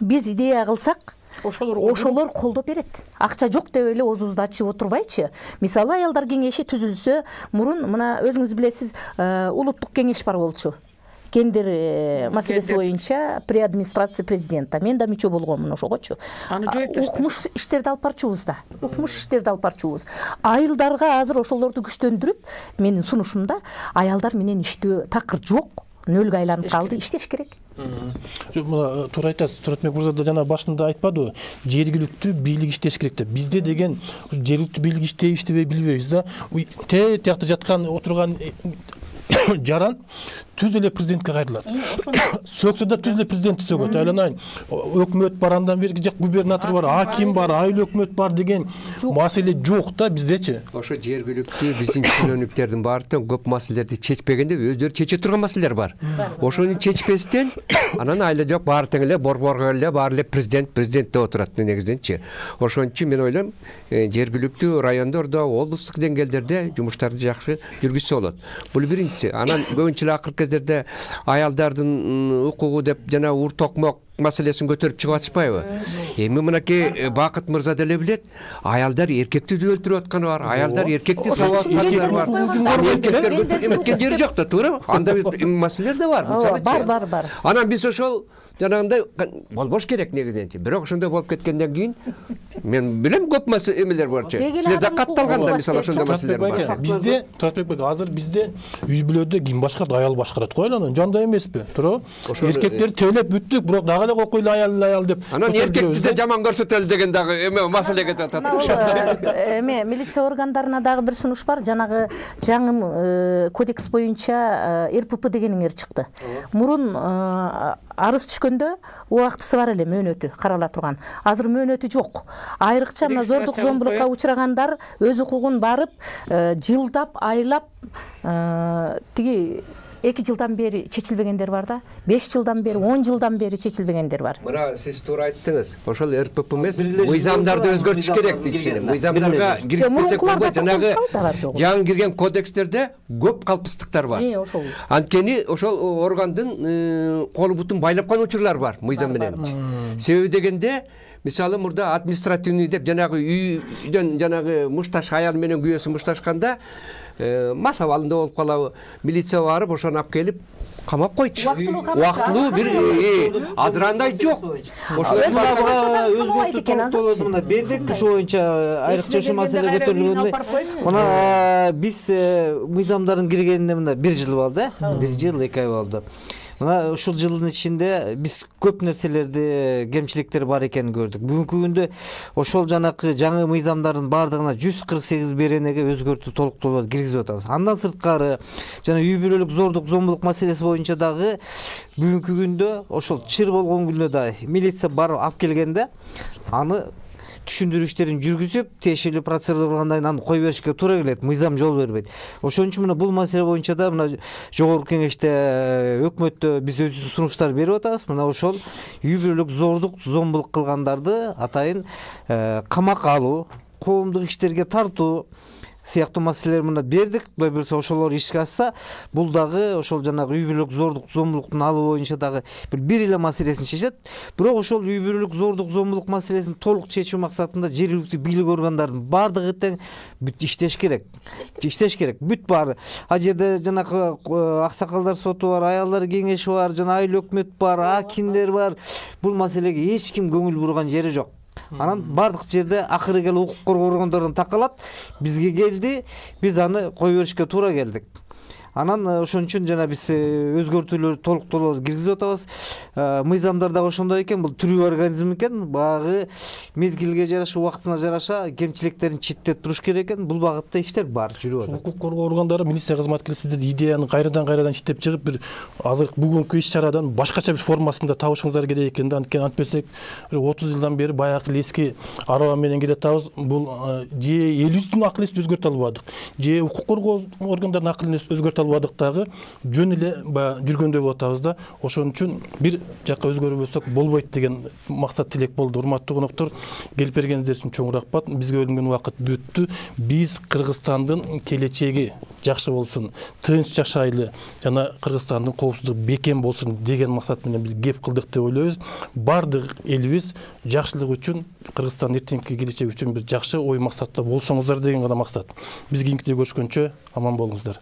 Биз идея кылсак, ошолор колдоп берет. Акча жок деп эле оозубузду ачып отурбайчы. Мисалы, аялдар кеңеши түзүлсө, мурун мына өзүңүз билесиз, улуттук кеңеш бар болчу. Гендер маселеси боюнча при администрация президента. Мен да мүчө болгонмун ошогочу. Укмуш иштерди алып барчубуз да. Укмуш иштерди алып барчубуз. Айылдарга азыр ошолорду күчтөндүрүп, менин сунушумда аялдар менен иштөө такыр жок. Нөлгө айланып калды, иштеш керек. Мына туура айтасыз. Туратбек мырза да жана башында айтпадыбы? Жергиликтүү бийлик иштеш керек деп. Бизде деген жергиликтүү бийлик иштейби, иштебей билбейбиз да. Те тиякта жаткан отурган жаран түз эле президентке кайрылат. Сөксө да түз эле президентти сөгөт. Айланайын. Өкмөт бар, андан берки жак губернатор бар, аким бар, айыл өкмөт бар деген маселе жок да биздечи. Ошо жергиликтүү биздин чиновниктердин баардыгы көп маселелерди чечпегенде өздөрү чече турган маселелер бар. Ошону чечпестен анан айла жок баары тең эле борборго эле баары эле президент президент деп отурат негизинчи. Ошон үчүн мен ойлойм, жергиликтүү райондордо, облустук деңгээлдерде жумуштарды жакшы жүргүзсө болот. Бул биринчи. Анан көбүнчө эле акыркы кездерде аялдардын укугу деп жана ур токмок маселесин көтөрүп чыгып атышпайбы? Эми мынакей Бакыт мырза деле билет, аялдар эркекти өлтүрүп атканы бар, аялдар эркекти сабап атканы бар. Эркектер эметкен жери жок да, туура? Анда маселелер да бар. Бар, бар, бар. Анан биз ошол жанагындай болбош керек негизинчи. Бирок ошондой болуп кеткенден кийин мен билем көп маселе эмелер бар. Силерде катталганда мисалы ошондой маселелер бар. Бизде Туратбек бек азыр бизде үй бүлөдө ким башкарат? Аял башкарат го, анан жандай эмеспи? Туура? Эркектер төлөп бүттүк, бирок дагы эле кокуйлу аял аял деп. Анан эркекти де жаман көрсөтөлү деген дагы эме маселе кетип атат. Эме милиция органдарына дагы бир сунуш бар. Жанагы жаңы кодекс боюнча эр пэ пэ дегениңер чыкты. Мурун арыз түшкөндө убактысы бар эле, мөөнөтү карала турган. Азыр мөөнөтү жок. Айрыкча мына зордук зомбулукка учрагандар өз укугун барып, жылдап, айлап, тиги эки жылдан бери чечилбегендер бар да, беш жылдан бери, он жылдан бери чечилбегендер бар. Мына сиз туура айттыңыз. Ошол эр пэ пэ эмес, мыйзамдарды өзгөртүш керек дейт. Мыйзамдарга киргизбесек болбойт. Жанагы жаңы кирген кодекстерде көп калпыстыктар бар. Анткени ошол органдын колу бутун байлап калган учурлар бар мыйзам менен. Себеби дегенде, мисалы мурда административный деп жанагы үйдөн жанагы мушташ аял менен күйөөсү мушташканда мас абалында болуп калабы, милиция барып ошону алып келип камап койчу. Убактылуу бир азыр андай жок. Ошол өзгөртүү мына бердик ошо боюнча айрыкча ошол маселе көтөрүлгөндө. Мына биз мыйзамдардын киргенине мына бир жыл болду, бир жыл эки ай болду. Мына ушул жылдын ичинде биз көп нерселерди, кемчиликтер бар экенин көрдүк. Бүгүнкү күндө ошол жанакы жаңы мыйзамдардын баардыгына жүз кырк сегиз беренеге өзгөртүү толуктоолорду киргизип атабыз. Андан сырткары жана үй бүлөлүк зордук зомбулук маселеси боюнча дагы бүгүнкү күндө ошол чыр болгон күндө да милиция барып алып келгенде аны түшүндүрүү иштерин жүргүзүп тиешелүү процедуралардан кийин аны кое беришке туура келет, мыйзам жол бербейт. Ошон үчүн мына бул маселе боюнча да мына жогорку кеңеште өкмөттө биз өзүбүздүн сунуштар берип атабыз. Мына ошол үй бүлөлүк зордук зомбулук кылгандарды атайын камакка алуу, коомдук иштерге тартуу сыяктуу маселелер мына бердик. Кудай буюрса ошолор ишке ашса, бул дагы ошол жанагы үй бүлөлүк зордук зомбулуктун алуу боюнча дагы бир бир эле маселесин чечет. Бирок ошол үй бүлөлүк зордук зомбулук маселесин толук чечүү максатында жергиликтүү бийлик органдарынын баардыгы тең бүт иштеш керек. Иштеш керек. Бүт баары. А жерде жанагы аксакалдар соту бар, аялдар кеңеши бар, жана айыл өкмөт бар, акимдер бар. Бул маселеге эч ким көңүл бурган жери жок. Анан бардык жерде акыры келип укук коргоо органдарынан такалат, бизге келди, биз аны кое беришке туура келдик. Анан ошон үчүн жана биз өзгөртүүлөр толуктоолор киргизип атабыз. Мыйзамдар дагы ошондой экен, бул тирүү организм экен, багы мезгилге жараша, убактына жараша кемчиликтерин четтеп туруш керек экен. Бул багытта иштер бар, жүрүп атат. Укук коргоо органдары, милиция кызматкерлери сиздердин идеяны кайрадан кайрадан иштеп чыгып, бир азыр бүгүнкү иш-чарадан башкача бир формасында табышыңыздар керек экен да. Анткени антпесек отуз жылдан бери баягы эски араба менен келатабыз. Бул же элибиздин акыл эсин өзгөртө албадык, же укук коргоо органдарынын акыл эсин өзгөртө албадык дагы, жөн эле баягы жүргөндөй болуп атабыз да. Ошон үчүн бир жакка өзгөрбөсөк болбойт деген максат тилек болду. Урматтуу коноктор, келип бергениңиздер үчүн чоң рахмат. Бизге бөлүнгөн убакыт бүттү. Биз Кыргызстандын келечеги жакшы болсун, тынч жашайлы жана Кыргызстандын коопсуздугу бекем болсун деген максат менен биз кеп кылдык деп ойлойбуз. Бардык элибиз жакшылык үчүн, Кыргызстандын эртеңки келечеги үчүн бир жакшы ой максатта болсоңуздар деген гана максат. Биз кийинкиде көрүшкөнчө аман болуңуздар.